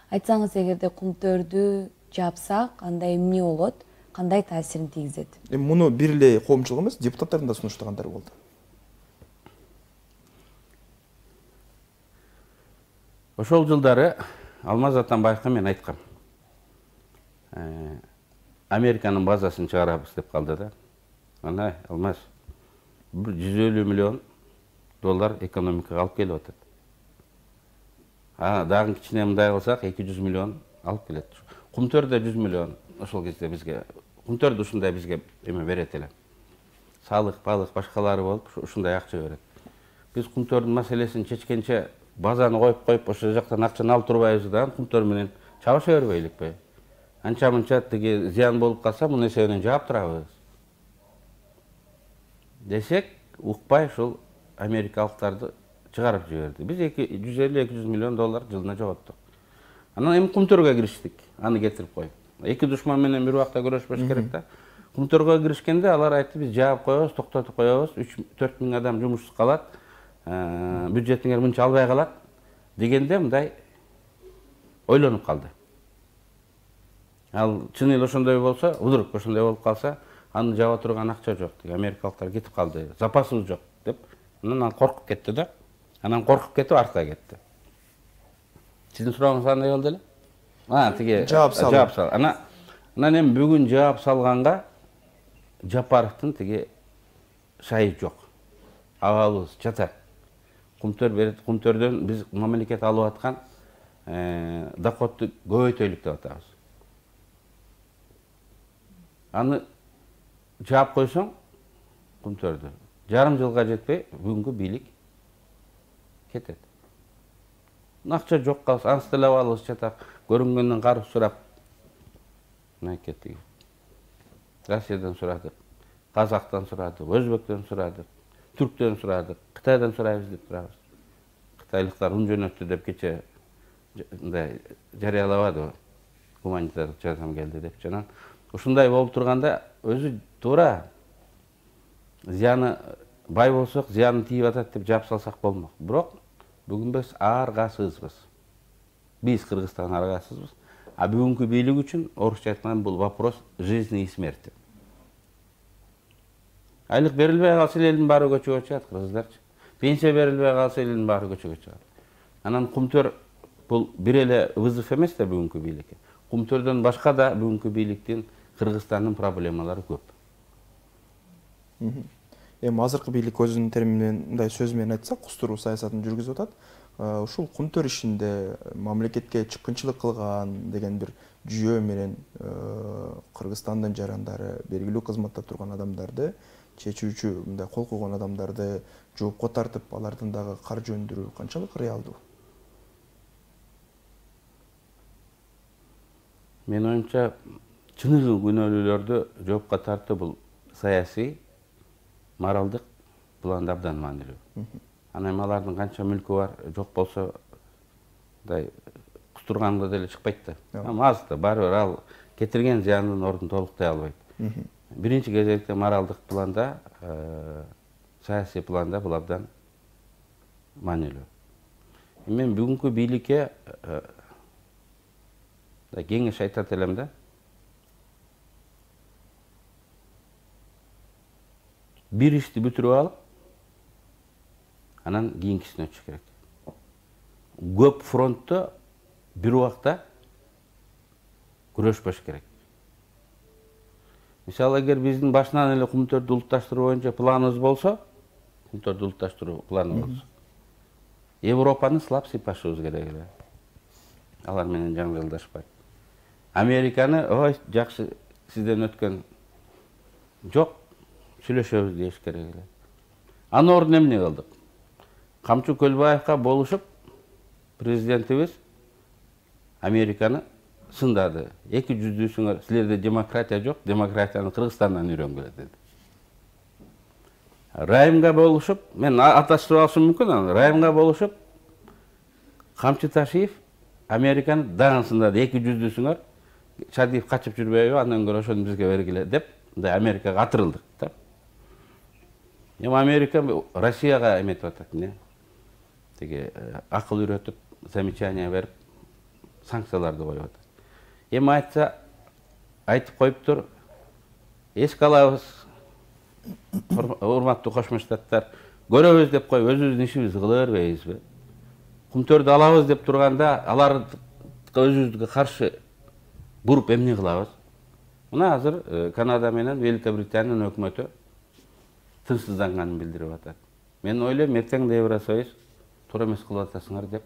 Айтсаңыз, эгерде Кумтөрдү жаапсак, андай эмне болот, кандай таасирин тийгизет? Эми муну бир эле коомчулук эмес, депутаттардын да сунуштагандары болду. Ошол жылдары Алмаз Атамбаевга мен айткам. Американын базасын чыгарабыз деп калды да. Ана Алмаз, $150 миллион экономикага алып келип атат. Дагы кичине мындай кылсак 200 миллион алып келет. Кумтөрдө 100 миллион ошол кезде бизге, Кумтөрдө ушундай бизге эме берет эле. Салык, балык, башкалары болуп ушундай акча берет. Биз Кумтөрдүн маселесин чечкенче базаны коюп ошол жактан акчаны алып турбайбыз да, Кумтөр менен чабыша бербейликпи? Анча-мынча тиги зыян болуп калса, муну эсебинен жаап турабыз десек, укпай ушул америкалыктарды чыгарып жиберди. Биз $150-200 миллион жылына жоготтук. Анан эми Кумтөргө кириштик, аны кетирип коюп. Эки душман менен бир убакта көрөшпөш керек да. Кумтөргө киришкенде алар айтты, биз жаап коебуз, токтотуп коебуз, 3-4 миң адам жумушсуз калат, бюджетиңер мынча албай калат дегенде мындай ойлонуп калды. Ал чын эле ошондой болсо, вдруг ошондой болуп калса, аны жаба турган акча жок, америкалыктар кетип калды, запасыбыз жок деп, анан коркуп кетти да. Анан коркуп кетип артка кетти. Сиздин сурооңуз кандай болду эле? Тиги жаап сал. Анан эми бүгүн жаап салганга Жапаровдун тиги шайы жок. Абалыбыз жатат. Кумтөрдөн биз мамлекет алып аткан доходду көбөйтөлүк деп атабыз. Аны жаап койсоң, Кумтөрдү жарым жылга жетпей бүгүнкү бийлик кетет. Акча жок калса, ансы деле абалыбыз жатат. Көрүнгөндөн карып сурап, кеттик. Россиядан сурадык, Казактан сурадык, Өзбектен сурадык, Түрктөн сурадык, Кытайдан сурайбыз деп турабыз. Кытайлыктар жөнөттү деп кече мындай жарыялабады, гуманитардык жардам келди деп. Жанан ушундай болуп турганда өзү туура зыяны бай болсок, зыяны тийип атат деп жаап салсак болмок. Бирок бүгүн биз аргасызбыз. Биз Кыргызстан аргасызбыз. А бүгүнкү бийлик үчүн орусча айтканда бул вопрос жизни и смерти. Айлык берилбей калса элдин баары көчөгө чыгат, кыргыздарчы. Пенсия берилбей калса элдин баары көчөгө чыгат. Анан Кумтөр бул бир эле вызов эмес да бүгүнкү бийликке. Кумтөрдөн башка да бүгүнкү бийликтин Кыргызстандын проблемалары көп. Эми азыркы бийлик өзүнүн терминин мындай сөз менен айтсак, кустуруу саясатын жүргүзүп атат. Ушул Кумтөр ишинде мамлекетке чыккынчылык кылган деген бир жүйө менен Кыргызстандын жарандары, белгилүү кызматта турган адамдарды, чечүүчү мындай кол койгон адамдарды жоопко тартып, алардын дагы каржы өндүрүү канчалык реалдуу? Мен оюмча, чыныгы күнөөлүүлөрдү жоопко тартуу бул саясий, моралдык планда абдан маанилүү. Анан алардын канча мүлкү бар, жок болсо, мындай кустурганга деле чыкпайт да. Аз да, баары бир ал кетирген зыяндын ордун толуктай албайт. Биринчи кезекте моралдык планда саясий планда бул абдан маанилүү. Мен бүгүнкү бийликке кеңеш айтат элем да. Бир ишти бүтүрүп алып, анан кийинкисине өтүш керек. Көп фронтто бир убакта күрөшпөш керек. Мисалы, эгер биздин башынан эле Кумтөрдү улутташтыруу боюнча планыбыз болсо, Кумтөрдү улутташтыруу планы болсо, Европаны сылап сыйпашыбыз керек эле. Алар менен жаңжалдашпай. Американы, ой, жакшы, сизден өткөн жок, сүйлөшөбүз деш керек эле. Анын ордуна эмне кылдык? Камчы Көлбаевка болушуп, президентибиз Американы сындады. Эки жүздүүсүңөр, силерде демократия жок, демократияны Кыргызстандан үйрөнгүлө деди. Райымга болушуп, мен аташтырып алышым мүмкүн, Райымга болушуп, Камчы Ташиев Американы дагы сындады. Эки жүздүүсүңөр, Шадиев качып жүрбөйбү, андан көрө ошону бизге бергиле деп, Америкага атырылдык. Эми Америка Россияга эметип атат, эмне? Теги акыл үйрөтүп, замечание берип, санкцияларды коюп атат. Эми айтса, айтып коюптур, эске алабыз, урматтуу Кошмо Штаттар, көрөбүз деп коюп, өзүбүздүн ишибизди кыла бербейбизби? Кумтөрдү алабыз деп турганда, аларды өзүбүзгө каршы буруп эмне кылабыз? Мына азыр Канада менен Великобританиянын өкмөтү тынчсызданганын билдирип атат. Мен ойлойм, эртең да Евросоюз туура эмес кылып атасыңар деп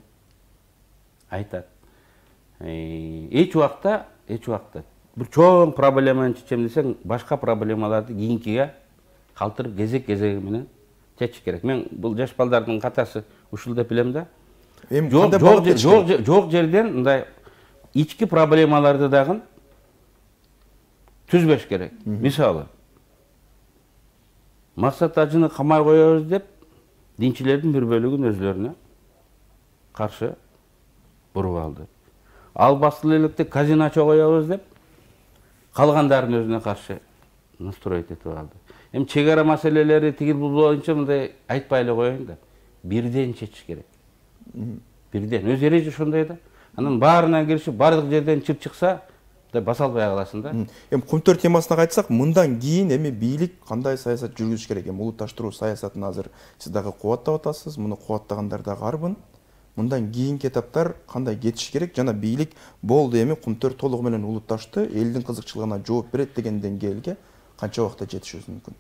айтат. Эч убакта бир чоң проблеманы чечем десең, башка проблемаларды кийинкиге калтырып кезек-кезеги менен чечиш керек. Мен бул жаш балдардын катасы ушул деп билем да. Жок жерден мындай ички проблемаларды дагы түзбөш керек. Мисалы, Максат Ажыны камай коебуз деп, динчилердин бир бөлүгүн өзлөрүнө каршы буруп алды. Ал басыл электе казино ача коебуз деп, калгандарын өзүнө каршы настроить этип алды. Эми чек ара маселелери тигил бул боюнча мындай айтпай эле коеюн да. Бирден чечиш керек. Бирден. Өз эреже ошондой да. Анан баарына киришип, бардык жерден чып чыкса, баса албай каласың да. Эми Кумтөр темасына кайтсак, мындан кийин эми бийлик кандай саясат жүргүзүш керек? Эми улутташтыруу саясатын азыр сиз дагы кубаттап атасыз, муну кубаттагандар дагы арбын. Мындан кийинки этаптар кандай кетиш керек? Жана бийлик болду, эми Кумтөр толугу менен улутташты, элдин кызыкчылыгына жооп берет деген деңгээлге канча убакытта жетишибиз мүмкүн?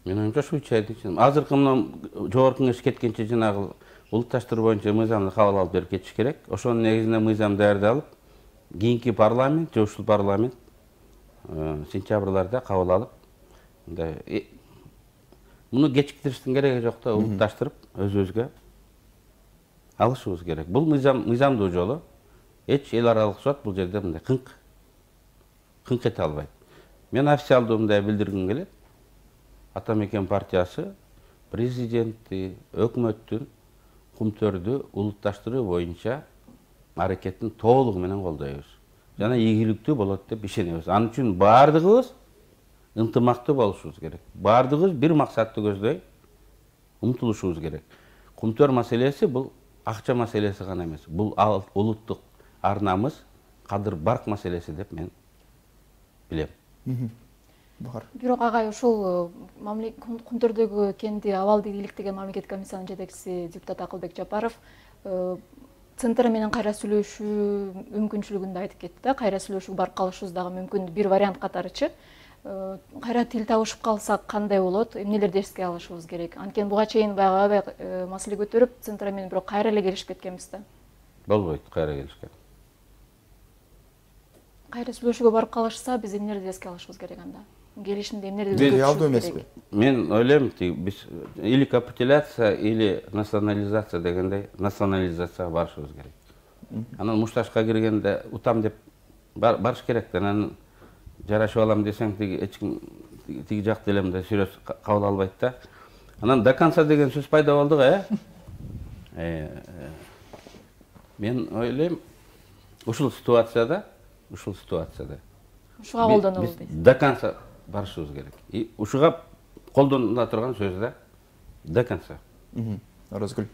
Мен оюмча ушу 3 айдын ичинде. Азыркы мына жогорку кеңеш кеткенче жанагы улутташтыруу боюнча мыйзамды кабыл алып берип кетиш керек. Ошонун негизинде мыйзам даярдалып, кийинки парламент же ушул парламент сентябрларда кабыл алып, муну кечиктириштин кереги жок да, улутташтырып өзүбүзгө алышыбыз керек. Бул мыйзамдуу жолу. Эч эл аралык сот бул жерде мындай кыңк эте албайт. Мен официалдуу мындай билдиргим келет. Атамекен партиясы президентти, өкмөттүн Кумтөрдү улутташтыруу боюнча аракеттин толугу менен колдойбуз. Жана ийгиликтүү болот деп ишенебиз. Анын үчүн бардыгыбыз ынтымактуу болушубуз керек. Бардыгыбыз бир максатты көздөй умтулушубуз керек. Кумтөр маселеси бул акча маселеси гана эмес. Бул улуттук арнамыз, кадыр барк маселеси деп мен билем. Бирок агай ушул Кумтөрдөгү кенди абалды иликтеген мамлекет комиссиянын жетекчиси депутат Акылбек Жапаров центр менен кайра сүйлөшүү мүмкүнчүлүгүн да айтып кетти да. Кайра сүйлөшүүгө барып калышыбыз дагы мүмкүн, бир вариант катарычы. Кайра тил табышып калсак кандай болот? Эмнелерди эске алышыбыз керек? Анткени буга чейин баягы маселе көтөрүп, центр менен бирок кайра эле келишип кеткенбиз да. Болбойт, кайра келишкен. Кайра сүйлөшүүгө барып калышса, биз эмнелерди эске алышыбыз керек анда? Келишимде эмнелерди реалдуу эмеспи? Мен ойлойм, биз или капитуляция, или национализация дегендей национализацияга барышыбыз керек. Анан мушташка киргенде утам деп барыш керек. Анан жарашып алам десең, эч ким тиги жакты элем да сүрөс кабыл албайт да. Анан до конца деген сөз пайда болду го, Мен ойлойм, ушул ситуацияда ушуга колдонобуз дейт. До конца барышыбыз керек. И ушуга колдонула турган сөз да до конца. Оразгүл.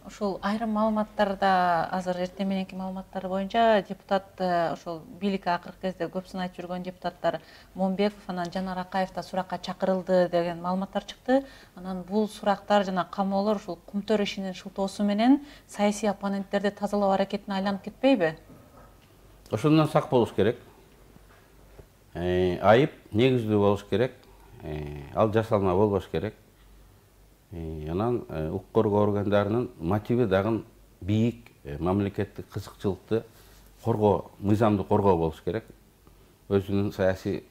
Ошол айрым маалыматтарда азыр эртең мененки маалыматтар боюнча депутат ошол бийликке акыркы кезде көпсүн айтып жүргөн депутаттар Момбеков анан Жанар Акаев да суракка чакырылды деген маалыматтар чыкты. Анан бул сурактар жана камоолор ушул Кумтөр ишинин шылтоосу менен саясий оппоненттерди тазалоо аракетине айланып кетпейби? Ошондон сак болуш керек. Айып негиздүү болуш керек. Ал жасалма болбош керек. Анан укук коргоо органдарынын мотиви дагы бийик мамлекеттик кызыкчылыкты коргоо, мыйзамды коргоо болуш керек. Өзүнүн саясий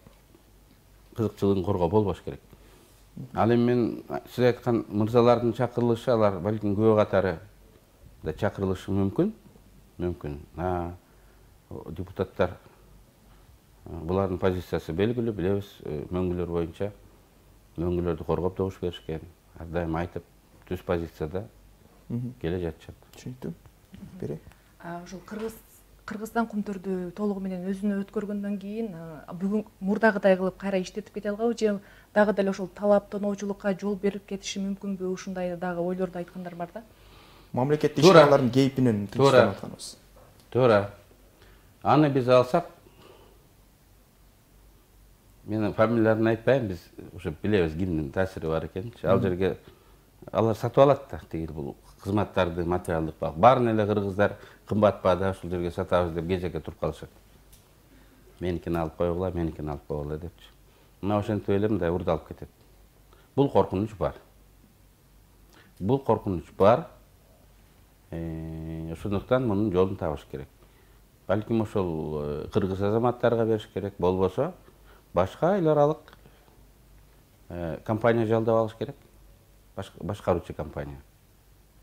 кызыкчылыгын коргоо болбош керек. Ал эми мен сиз айткан мырзалардын чакырылышы, алар балким күбө катары да чакырылышы мүмкүн. Депутаттар булардын позициясы белгилүү, билебиз, мөңгүлөр боюнча мөңгүлөрдү коргоп добуш беришкен. Ар дайым айтып, түз позицияда келе жатышат. Түшүнүктүү. Бере. Ошол Кыргызстан Кумтөрдү толугу менен өзүнө өткөргөндөн кийин бүгүн мурдагыдай кылып кайра иштетип кете алганбы же дагы деле ошол талап тоноочулукка жол берип кетиши мүмкүнбү? Ушундай дагы ойлорду айткандар бар да. Мамлекеттик ишканалардын кейпинен тынчтанып атканыбыз. Туура. Аны биз алсак, мен фамилияларын айтпайм, биз уже билебиз кимдин таасири бар экенин. Ал жерге алар сатып алат да, тигил бул кызматтарды, материалдык бак. Баарын эле кыргыздар кымбат баада ушул жерге сатабыз деп кезекке туруп калышат. Меникини алып койгула, меникини алып койгула депчи. Мына ошентип эле мындай урдалып кетет. Бул коркунуч бар. Ошондуктан мунун жолун табыш керек. Балким ошол кыргыз азаматтарга бериш керек, болбосо башка эл аралык компания жалдап алыш керек. Башкаруучу компания.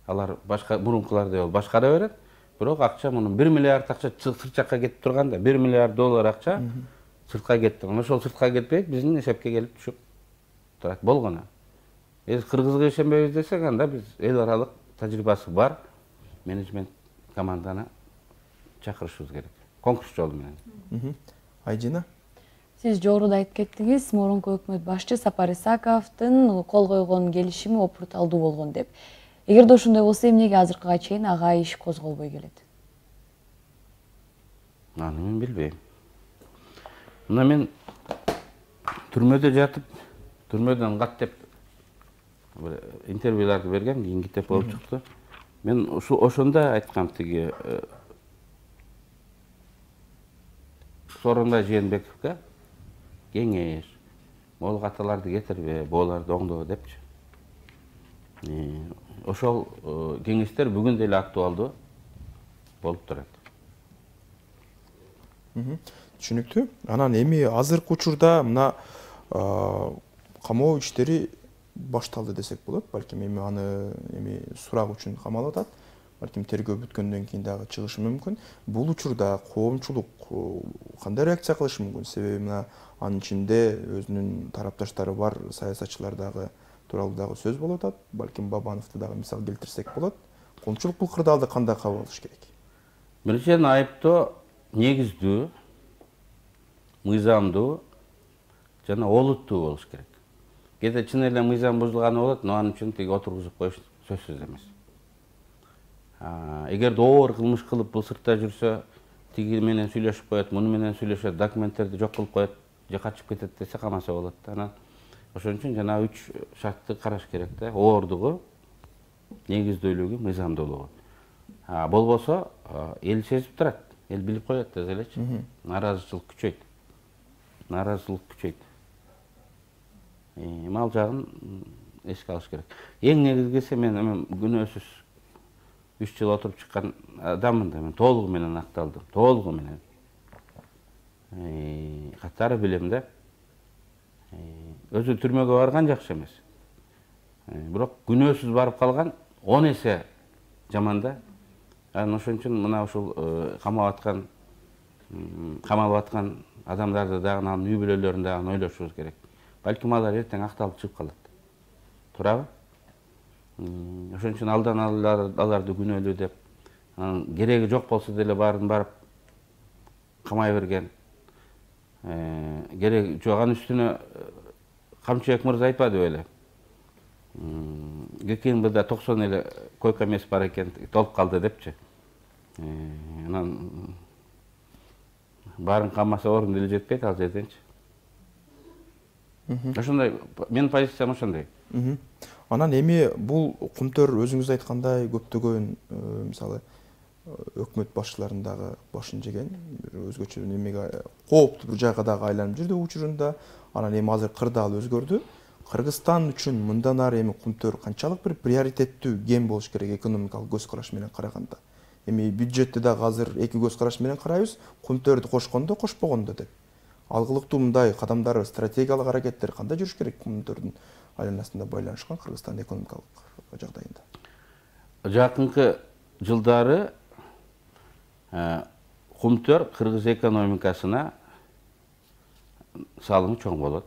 Алар башка мурункулардай башкара берет, бирок акча мунун 1 миллиард акча сырт жакка кетип турганда, 1 миллиард доллар акча сыртка кетти. Ошол сыртка кетпей биздин эсепке келип түшүп турат. Болгону. Кыргызга ишенбейбиз десек, анда биз эл аралык тажрыйбасы бар менеджмент команданы чакырышыбыз керек. Конкурс жолу менен. Айдина. Сиз жогоруда айтып кеттиңиз, мурунку өкмөт башчы Сапар Исаковдун кол койгон келишими опурталдуу болгон деп. Эгерде ошондой болсо, эмнеге азыркыга чейин ага иш козголбой келет? Аны мен билбейм. Мына мен түрмөдө жатып, түрмөдөн каттеп интервьюларды бергем, кийин китеп болуп чыкты. Мен ошондо айткам, тиги Сооронбай Жээнбековго кеңеш, могул каталарды кетирбе, бооларды оңдо депчи. Ошол кеңештер бүгүн деле актуалдуу болуп турат. Түшүнүктүү. Анан эми азыркы учурда мына камоо иштери башталды десек болот. Балким эми аны сурак үчүн камалып атат. Балким тергөө бүткөндөн кийин дагы чыгышы мүмкүн. Бул учурда коомчулук кандай реакция кылышы мүмкүн? Себеби мына анын ичинде өзүнүн тарапташтары бар, саясатчылар дагы тууралуу дагы сөз болуп атат. Балким Бабановду дагы мисал келтирсек болот. Коомчулук бул кырдаалды кандай кабыл алыш керек? Биринчиден айыптоо негиздүү, мыйзамдуу жана олуттуу болуш керек. Кээде чын эле мыйзам бузулганы болот, но анын үчүн тиги отургузуп коюш сөзсүз эмес. Эгерде оор кылмыш кылып бул сыртта жүрсө, тиги менен сүйлөшүп коет, муну менен сүйлөшөт, документтерди жок кылып коет, же качып кетет десе камаса болот да. Анан ошон үчүн жана 3 шартты караш керек да. Оордугу, негиздүүлүгү, мыйзамдуулугу. Болбосо эл сезип турат, эл билип коет да элечи. Нааразычылык күчөйт. Ал жагын эске алыш керек. Эң негизгиси, мен күнөөсүз 3 жыл отуруп чыккан адаммын да, мен толугу менен акталдым, толугу менен. Катары билем да. Өзү түрмөгө барган жакшы эмес. Бирок күнөөсүз барып калган 10 эсе жаман да. Анан ошон үчүн мына ушул камалып аткан адамдарды дагы, анын үй бүлөлөрүн дагы ойлошубуз керек. Балким алар эртең акталып чыгып калат. Туурабы? Ошон үчүн алдан аларды күнөөлүү деп, кереги жок болсо деле баарын барып камай берген. Керек жок, анын үстүнө Камчыбек мырза айтпады беле? ГКМБда 90 эле койка эмес бар экен, толуп калды депчи. Анан баарын камаса орун деле жетпейт ал жерденчи. Ошондой менин позициям ошондой. Анан эми бул кумтөр өзүңүз айткандай көптөгөн мисалы өкмөт башчыларынын дагы башын жеген, өзгөчө немеге кооптуу бир жайга дагы айланып жүрдү учурунда. Анан эми азыр кырдаал өзгөрдү. Кыргызстан үчүн мындан ары эми кумтөр канчалык бир приоритеттүү кен болуш керек экономикалык көз караш менен караганда? Эми бюджетти дагы азыр эки көз караш менен карайбыз, кумтөрдү кошкондо, кошпогондо деп. Алгылыктуу мындай кадамдар, стратегиялык аракеттер кандай жүрүш керек кумтөрдүн айланасында байланышкан Кыргызстан экономикалык жагдайында? Жакынкы жылдары кумтөр кыргыз экономикасына салымы чоң болот,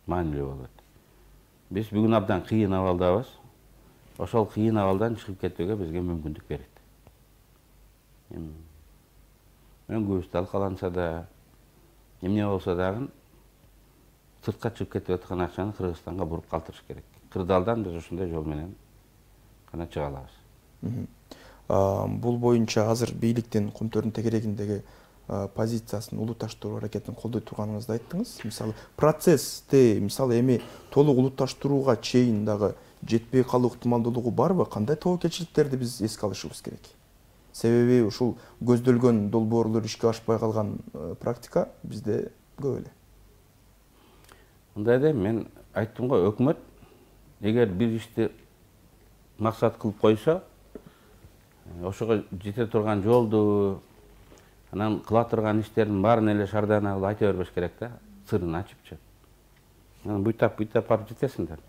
маанилүү болот. Биз бүгүн абдан кыйын абалдабыз. Ошол кыйын абалдан чыгып кетүүгө бизге мүмкүндүк берет. Өңгүбүз талкаланса да, эмне болсо дагы сыртка чыгып кетип аткан акчаны Кыргызстанга буруп калтырыш керек. Кырдаалдан биз ушундай жол менен гана чыга алабыз. Бул боюнча азыр бийликтин кумтөрдүн тегерегиндеги позициясын улутташтыруу аракетин колдой турганыңызды айттыңыз. Мисалы процессти, мисалы эми толук улутташтырууга чейин дагы жетпей калуу ыктымалдуулугу барбы? Кандай тобокелчиликтерди биз эске алышыбыз керек? Себеби ушул көздөлгөн долбоорлор ишке ашпай калган практика бизде көп эле. Мындай да мен айттым го, өкмөт эгер бир ишти максат кылып койсо, ошого жете турган жолду, анан кыла турган иштердин баарын эле шардана кылып айта бербеш керек да, сырын ачыпчы. Анан буйтап барып жетесиңдер.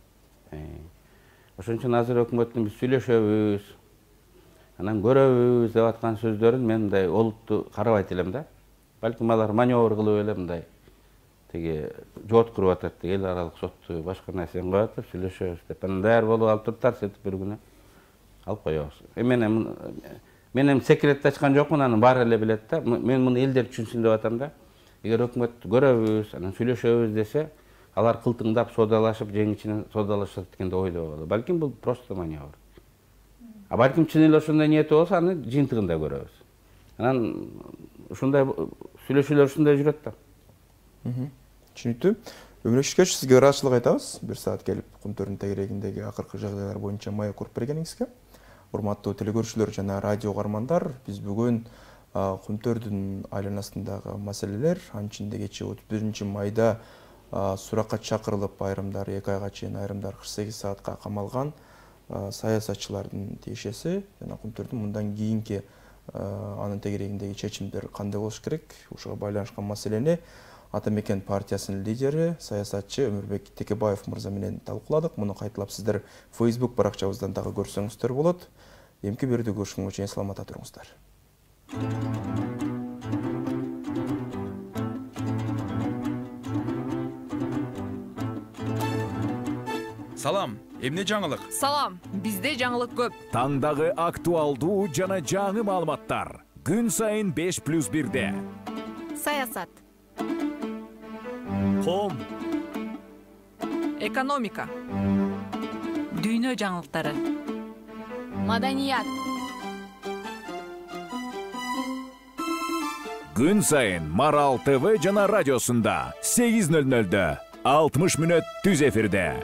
Ошон үчүн азыр өкмөттүн биз сүйлөшөбүз, анан көрөбүз деп аткан сөздөрүн мен мындай олуттуу карабайт элем да. Балким алар маневр кылып эле мындай тиги жооткуруп атат, эл аралык сотту башка нерсени коюп атып сүйлөшөбүз деп. Анан даяр болуп алып туруптар, сетип бир күнү алып коебуз. Мен эми секретти ачкан жокмун, анын баары эле билет да. Мен муну элдер түшүнсүн деп атам да. Эгер өкмөт көрөбүз, анан сүйлөшөбүз десе, алар кылтыңдап содалашып, жеңичинен содалашат деген деп ойлоп. Балким бул просто маневр. А балким чын эле ошондой ниети болсо, аны жыйынтыгында көрөбүз. Анан ушундай сүйлөшүүлөр ушундай жүрөт да. Түшүнүктүү. Өмүрөкүш, сизге ыраазычылык айтабыз. Бир саат келип кумтөрдүн тегерегиндеги акыркы жагдайлар боюнча маек уруп бергениңизге. Урматтуу телекөрүүчүлөр жана радио угармандар, биз бүгүн кумтөрдүн айланасындагы маселелер, анын ичинде кечээ 31 майда суракка чакырылып айрымдар 2 айга чейин, айрымдар 48 саатка камалган саясатчылардын тиешеси жана кумтөрдүн мындан кийинки анын тегерегиндеги чечимдер кандай болуш керек, ушуга байланышкан маселени Ата Мекен партиясынын лидери, саясатчы Өмүрбек Текебаев мырза менен талкууладык. Муну кайталап сиздер Facebook баракчабыздан дагы көрсөңүздөр болот. Эмки берүүдө көрүшкөнгө чейин саламатта туруңуздар. Салам, эмне жаңылык? Салам, бизде жаңылык көп. Таңдагы актуалдуу жана жаңы маалыматтар. Күн сайын 5+1-де. Саясат, Ком, экономика, Дүйнө жаңылыктары, маданият. күн сайын Марал ТВ жана радиосунда 8:00-дө 60 мүнөт түз эфирде.